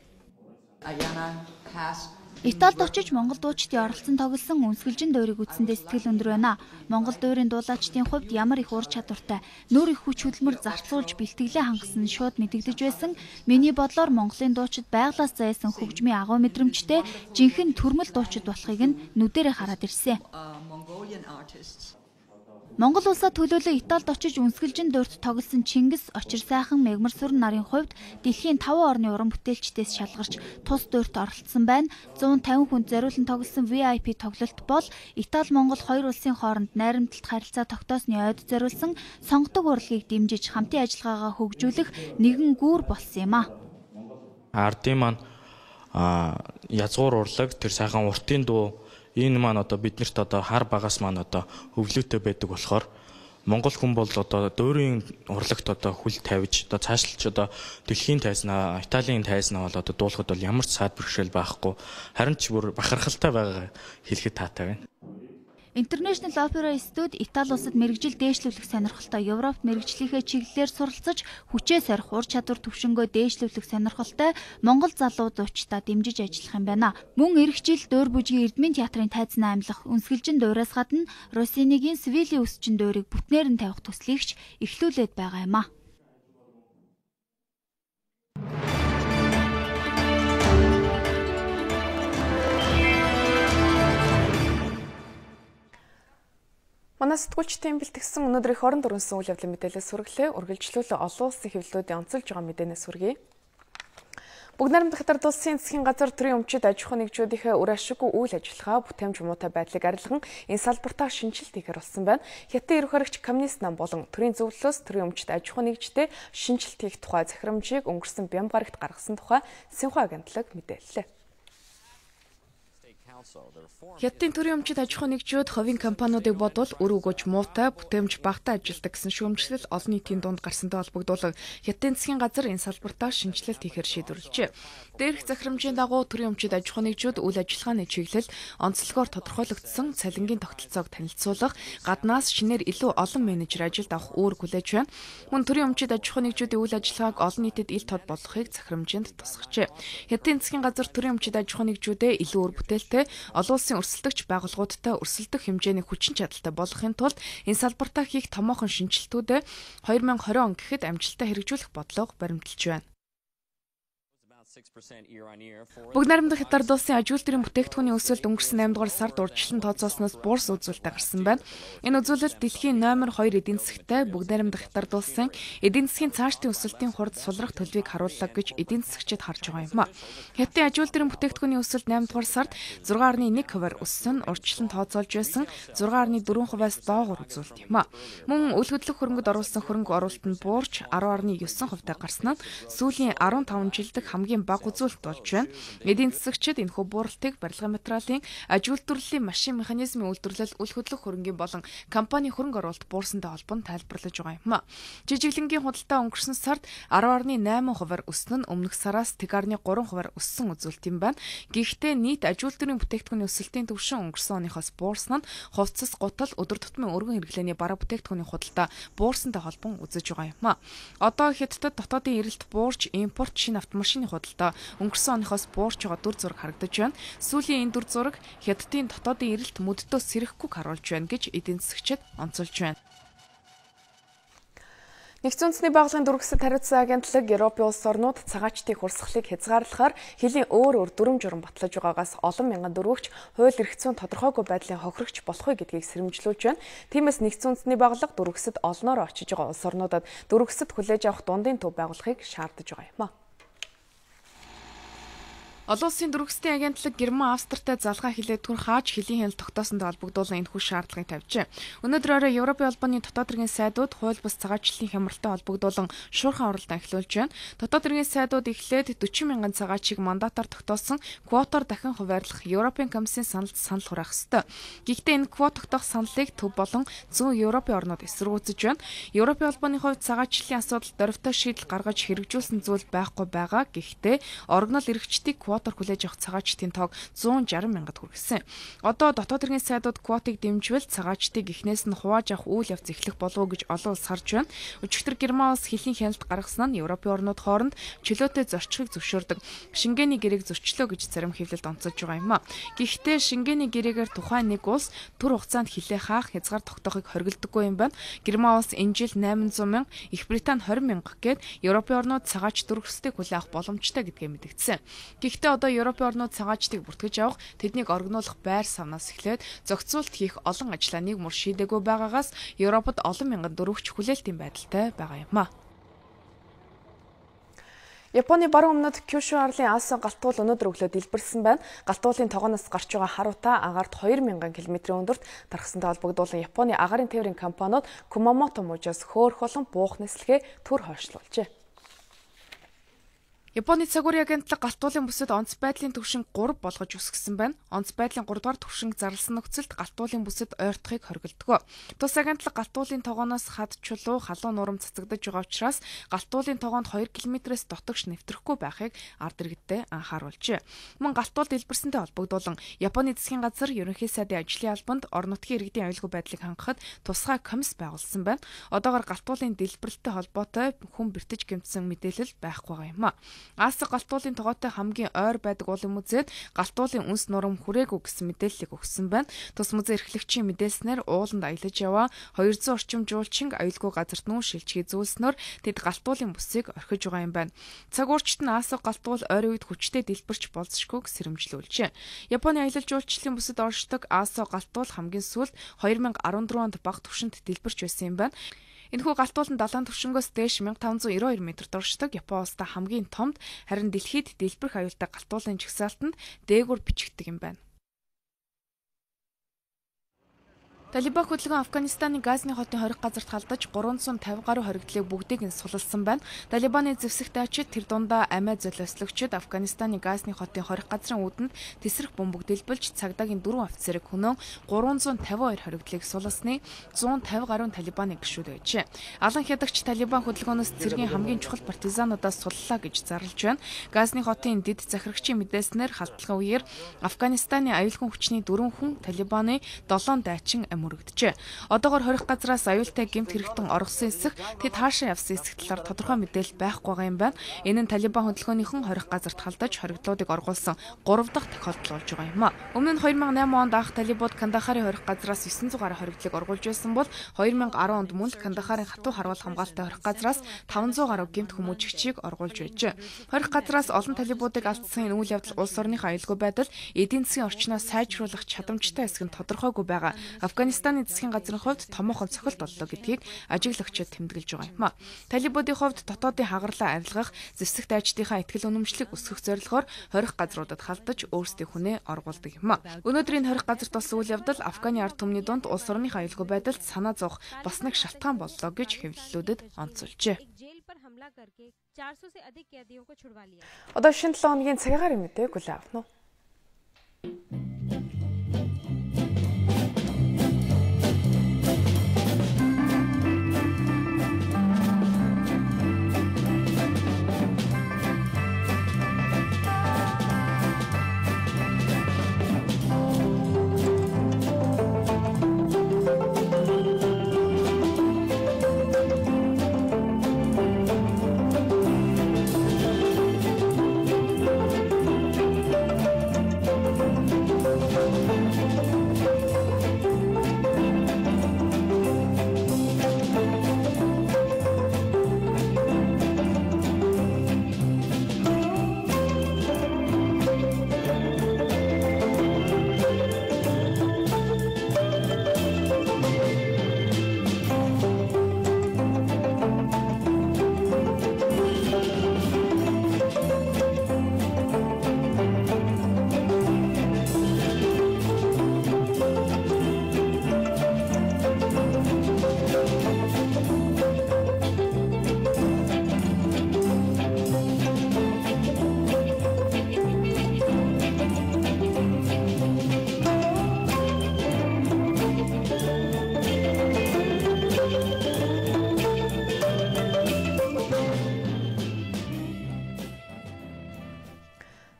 Ayana cast Италид очиж Монгол дуучдын оролцсон тоглосон үнсгэлжин дуурийг үзсэндээ сэтгэл өндөр байна. Монгол дуурийн дуулаачдын хувьд ямар их ур чадвартай, нүүр их хүч хөдөлмөр зарцуулж бэлтгэлээ хангасан шууд мэдэгдэж байсан. Миний бодлоор Монголын дуучид байглаас зайсан хөгжмийн агуу мэдрэмжтэй жинхэнэ төрмөл дуучид болохыг нь нүдэрээ хараад ирсэн. Монгол улсад төлөөлөө Италид очиж үнсгэлжин дуурьт тоглосон Чингис, Очир сайхан, Мегмар сүрэн нарын хувьд дэлхийн таван орны уран бүтээлчдээс шалгарч тус дуурьт оролцсон байна. зуун тавин хүнд зориулан тоглосон ви ай пи тоглолт бол Итали Монгол хоёр улсын хооронд найрамдалт харилцаа тогтоосны ойд зориулсан сонгодог урлагийг дэмжиж хамтын ажиллагаагаа хөгжүүлэх нэгэн гүүр болсон юм а. Ардын маань язгуур урлаг, тэр сайхан уртын дуу энэ маань одоо биднэрт одоо хар багаас маань одоо хөвлөттэй байдаг болохоор Монгол хүн бол одоо дуурийн урлагт одоо хүл тавьж одоо цаашлж одоо дэлхийн тайзнаа, Италийн тайзнаа бол одоо дуулахад бол ямар ч саад бэрхшээл байхгүй, харин ч бүр бахархалтай байгаа хэлэхэд таатай байна. International Opera Studio Итали улсад мэрэгжил дээшлүүлэх сонирхолтой Европт мэрэгжлийнхээ чиглэлээр суралцаж хүчээ сорих ур чадвар төвшнгөө дээшлүүлэх сонирхолтой Монгол залуу зуучдаа дэмжиж ажиллах юм байна. Мөн эх жил Дуур бүжгийн Эрдмийн театрын тайзнаа амьлах үнсгэлжин дуураас гадна Россинигийн Свилийн үсчин дуурийг бүтнээр нь тавих төслийгч эхлүүлээд байгаа юм а. Манай сэтгүүлчдийн бэлтгэсэн өнөөдрийн хорон дөрвөн үйл явдлын мэдээлэлээс хүргэлээ. Үргэлжлүүлэн олон улсын хэвлэлүүдийн онцолж байгаа мэдээнээс хүргэе. Бүгд найрамдах хятад улсын засгийн газар төрийн өмчит аж ахуй нэгжүүдийнхээ үр ашиггүй үйл ажиллагаа бүтээмж муутай байдлыг арилган энэ салбартаа шинжилт хийхээр болсон байна. Хятадын ерөнхий харагч коммунист нам болон төрийн зөвлөлөөс төрийн өмчит аж ахуй нэгжтэй шинжилт хийх тухай захирамжийг өнгөрсөн бям гарагт гаргасан тухай Синхua агентлаг мэдээллээ. Хятадын төрийн өмчит аж ахуй нэгжүүд хувийн компаниудыг бодвол үр өгөөж муутай бүтээмж багтаа ажилдаг гэсэн шүүмжлэл олон нийтийн дунд гарсантай холбогдуулан Хятадын засгийн газар энэ салбартаа шинжилэлт хийхээр шийдвэрлэжээ. Дээрх захирамжийн дагуу төрийн өмчит аж ахуй нэгжүүд үйл ажиллагааны чиглэл онцлогоор тодорхойлогдсон цалингийн тогтолцоог танилцуулах, гаднаас шинээр илүү олон менежер ажилд авах үүрэг хүлээж байна. Мөн төрийн өмчит аж ахуй нэгжүүдийн үйл ажиллагааг олон нийтэд ил тод болгохыг захирамжинд тусгажээ. Хятадын засгийн газар төрийн өмчит аж ахуй нэгжүүдээ илүү үр бүтээлтэй олон улсын өрсөлдөгч байгууллагуудтай өрсөлдөх хэмжээний хүчин чадалтай болгохын тулд энэ салбартаа хийх томоохон шинжилтүүдэд две тысячи двадцать он гэхэд амжилттай хэрэгжүүлэх бодлого баримталж байна. Бүгд найрамдах хятад улсын аж үйлдвэрийн бүтээгдэхүүний өсөлт өнгөрсөн eight дугаар сард урьдчилан тооцоолсноос буурс үзүүлэлт гарсан байна. Энэ үзүүлэлт дэлхийн номер two эдийн засагтай бүгд найрамдах хятад улсын эдийн засгийн цаашдын өсөлтийн хурд сулрах төлөвийг харууллаа гэж эдийн засагчид харж байгаа юм а. Хятадын аж үйлдвэрийн бүтээгдэхүүний өсөлт eight дугаар сард six point one хувиар өссөн нь урьдчилан тооцоолж байсан six point four хувиас доогуур үзүүлэлт юм а. Мөн үл хөдлөх хөрөнгөд оруулсан хөрөнгө оруулалт нь буурч ten point nine хувитай гарсан нь сүүлийн fifteen жил дэх хамгийн бага үзүүлэлт болж байна. Эдийн засагчид энэхүү бууралтыг барилгын материалын аж үйлдвэрлэлийн машин механизмын үйлдвэрлэл үл хөдлөх хөрөнгийн болон компани хөрөнгө оруулалт буурсантай холбоонд тайлбарлаж байгаа юм а. Жижиглэнгийн худалдаа өнгөрсөн сард ten point eight хувиар өснө нь өмнөх сараас ten point three хувиар өссөн үзүүлэлт юм байна. Гэхдээ нийт аж үйлдвэрийн бүтээгдэхүүний өсөлтийн түвшин өнгөрсөн оныхоос буурсан нь хувцас, гутал, өдөр тутмын өргөн хэрэглээний бараа бүтээгдэхүүний худалдаа буурсантай холбоон үзэж байгаа юм а. Одоо Хятадд дотоодын эрэлт буурч, импорт, шинэ автомашины худалдаа өнгөрсөн оныхоос буурч байгаа дүр зураг харагдаж байна. Сүүлийн энэ дүр зураг Хятадын дотоодын эрэлт мөддөөс сэрэхгүйг харуулж байна гэж эдийн засагчид онцолж байна. Нэгдсэн үндэсний байгууллагын дөрвөсөд хариуцсан агентлаг Европын улс орнууд цагаачтын хурсгалыг хязгаарлахаар хэлийн өөр өөр дүрм журам батлаж байгаагаас олон мянган дөрвөгч хууль эрх зүйн тодорхойгүй байдлын хохирогч болох вэ гэдгийг сэрэмжлүүлж байна. Тиймээс нэгдсэн үндэсний байгууллага дөрвөсөд олноор очиж байгаа улс орнуудад дөрвөсөд хүлээж авах дундын төв байгуулахыг шаардаж байгаа юм а. Олон улсын дөрвөсдийн агентлаг Герман, Австртай залгаа хилээд түр хааж хэлийн хяналт тогтоосонд холбогдуулан энэхүү шаардлагыг тавьжээ. Өнөөдөр орой Европын холбооны дотоод хэргийн сайдууд хууль бус цагаачлалын хямралтай холбогдуулан шуурхайн оролдоо эхлүүлж байна. Дотоод хэргийн сайдууд эхлээд forty мянган цагаачийг мандатаар тогтоосон квотоор дахин хуваарлах Европын комиссийн саналд санал хураах ёстой. Гэхдээ энэ квот тогтоох саналыг төв болон зүүн Европын орнууд эсэргүүцэж байна. Европын холбооны хувьд цагаачлалын асуудал дөрвтэй шийдэл гаргаж хэрэгжүүлсэн зүйл байхгүй байгаа. Гэхдээ орогнол эрхчдийг квотоор хүлээж авах цагаачдын тоог зуун жарим мянгад хүргэсэн. Одоо дотоод хэргийн сайдууд квотыг дэмжвэл цагаачдыг эхнээс нь хувааж авах үйл явц эхлэх болов уу гэж олон улс харж байна. Өчигдөр Герман улс хэлийн хяналт гаргасан нь Европын орнууд хооронд чөлөөтэй зорчихыг зөвшөөрдөг Шенгений гэрээг зөрчлөө гэж зарим хэвлэлд онцолж байгаа юм а. Гэхдээ Шенгений гэрээгээр тухайн нэг улс түр хугацаанд хилээ хаах хязгаар тогтоохыг хоригддаггүй юм байна. Герман улс энэ жил найман зуун мянга, Их Британи двадцать мянга гээд Европын орнууд цагаач дүрхсдийг хүлээх авах боломжтой гэдгээ мэдгдсэн. Гэхдээ одоо Европын орнууд цагаачдыг бүртгэж авах, тэднийг оргинуулах байр савнаас эхлээд зохицуулт хийх олон ажлаа нэг мөр шийдээгүй байгаагаас Европод олон мянган дөрвөгч хүлээлтийн байдалтай байгаа юм а. Японы баруун өмнөд Кюшу арлын Аасан галтуул өнөөдөр өглөө дэлбэрсэн байна. Галтуулын тогооноос гарч байгаа харуута агаарт хоёр мянган километрийн өндөрт тархсантай холбогдуулан Японы агаарын тээврийн компаниуд Кумамото мужаас хөөх болон буух нислэгээ төр хойшлуулжээ. Японы цагуурийн агентлаг галтуулын бүсэд онц байдлын түвшин гурав болгож үсгэсэн байна. Онц байдлын гурав дугаар түвшинг зарласан нөхцөлд галтуулын бүсэд ойртохыг хоригддог. Тус агентлаг галтуулын тогооноос хад чулуу халуун нурам цацагдж байгаа учраас галтуулын тогоонд хоёр километрээс дотогш нэвтрэхгүй байхыг ард иргэдтэй анхааруулжээ. Мөн галтуул дэлбэрсэнтэй холбогдуулан Японы засгийн газар ерөнхий сайдын ажлын албанд орон нутгийн иргэдийн аюулгүй байдлыг хангахад тусгай комисс байгуулсан байна. Одоогоор галтуулын дэлбэрэлттэй холбоотой хүн бэртэж гэмтсэн мэдээлэл байхгүй байгаа юм а. Аасан галтуулын тогоотой хамгийн ойр байдаг уулын музейд галтуулын үнс нурам хүрээгүй гэсэн мэдээллийг өгсөн байна. Тус музей эрхлэгчийн мэдээлснээр ууланд аялаж яваа хоёр зуун орчим жуулчин аюулгүй газарт нүүн шилжихийг зүйлснээр тэд галтуулын бүсийг орхиж байгаа юм байна. Цагуурчт нь Аасан галтуул ойрын үед хүчтэй дэлбэрч болзошгүйг сэрэмжлүүлжээ. Японы аялал жуулчлалын бүсэд оршдог Аасан галтуул хамгийн сүүлд хоёр мянга арван дөрвөн онд бага түвшинд дэлбэрч байсан юм байна. Энэхүү галтуулан далайн түвшингөөс дээш мянга таван зуун девять хоёр метрт оршдог Япон улстай хамгийн томд, харин дэлхийд дэлбэрэх аюултай галтуулын жагсаалтанд дээгүүр бичигддэг юм байна. Талибан хөдөлгөөн Афганистаны Газни хотын хориг газарт халдаж гурван зуун тавин гаруй хоригдлыг бүгдийг нь суллсан байна. Талибаны зэвсэг дайчид тэр дундаа амиа золиослогчид Афганистаны Газни хотын хориг газрын үүдэнд тесрэх бөмбөг дэлбэлж цагдаагийн дөрвөн офицерыг хөнөө гурван зуун тавин хоёр хоригдлыг сулласны зуун тавин гаруй Талибаны гишүүд байжээ. Алан хядагч Талибан хөдөлгөөнөөс цэргийн хамгийн чухал партизануудаас суллаа гэж зарлж байна. Газни хотын дэд захирагчийн мэдээснээр халдлагын үеэр Афганистаны аюулгүй хүчний дөрвөн хүн Талибаны долоон дайчин мөрөгдөжээ. Одоогоор хорих газраас аюултай гэмт хэрэгтэн оргосон эсэх тэд хаашаа явсан эсэх талаар тодорхой мэдээлэл байхгүй байгаа юм байна. Энэ нь Талибан хөдөлгөөнийхэн хорих газарт халдаж хоригдлуудыг оргуулсан гурав дахь тохиолдол болж байгаа юм а. Өмнө нь хоёр мянга найман онд анх Талибууд Кандахарын хорих газраас девять сот гаруй хоригдлыг оргуулж байсан бол хоёр мянга арван онд мөн Кандахарын хатуу харуул хамгаалалттай хорих газраас таван зуун гаруй гэмт хүмүүжигчийг оргуулж байжээ. Хорих газраас олон Талибуудыг алдсан энэ үйл явдал улс орныхоо аюулгүй байдал, эдийн засгийн орчноо сайжруулах чадамжтай хэсэг нь тодорхойгүй байгаа. Афганистаны засгийн газрын хувьд томоохон цохилт боллоо гэдгийг ажиглагчид тэмдэглэж байгаа юм а. Талибуудын хувьд дотоодын хагарлаа арилгах, зэвсэг дайчдынхаа ихтгэл үнэмшлийг өсгөх зорилгоор хорих газруудад халдаж өөрсдийн хүнээ оргуулдаг юм а. Өнөөдрийн хорих газарт болсон үйл явдал Афганы ард түмний дунд улс орныхоо аюулгүй байдалд санаа зовох бас нэг шалтгаан боллоо гэж хэвлэлүүдэд онцолжээ. Одоо шинэ долоо хоногийн цагаагаар мэдээ хүлээн авах нь.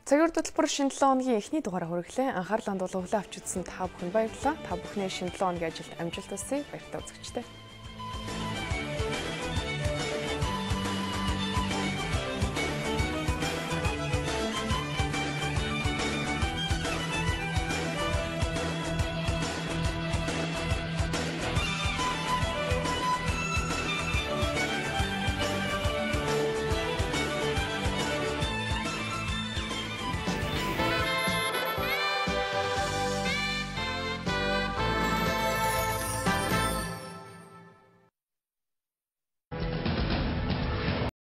Цагийн хөтөлбөр шинэ долоон хоногийн эхний дугаараа хүргэлээ. Анхаарлаа хандуулан хүлээн авч үзсэн та бүхэнд баярлалаа. Та бүхний шинэ долоон хоногийн ажилд амжилт хүсье. Баяртай үзэгчдээ.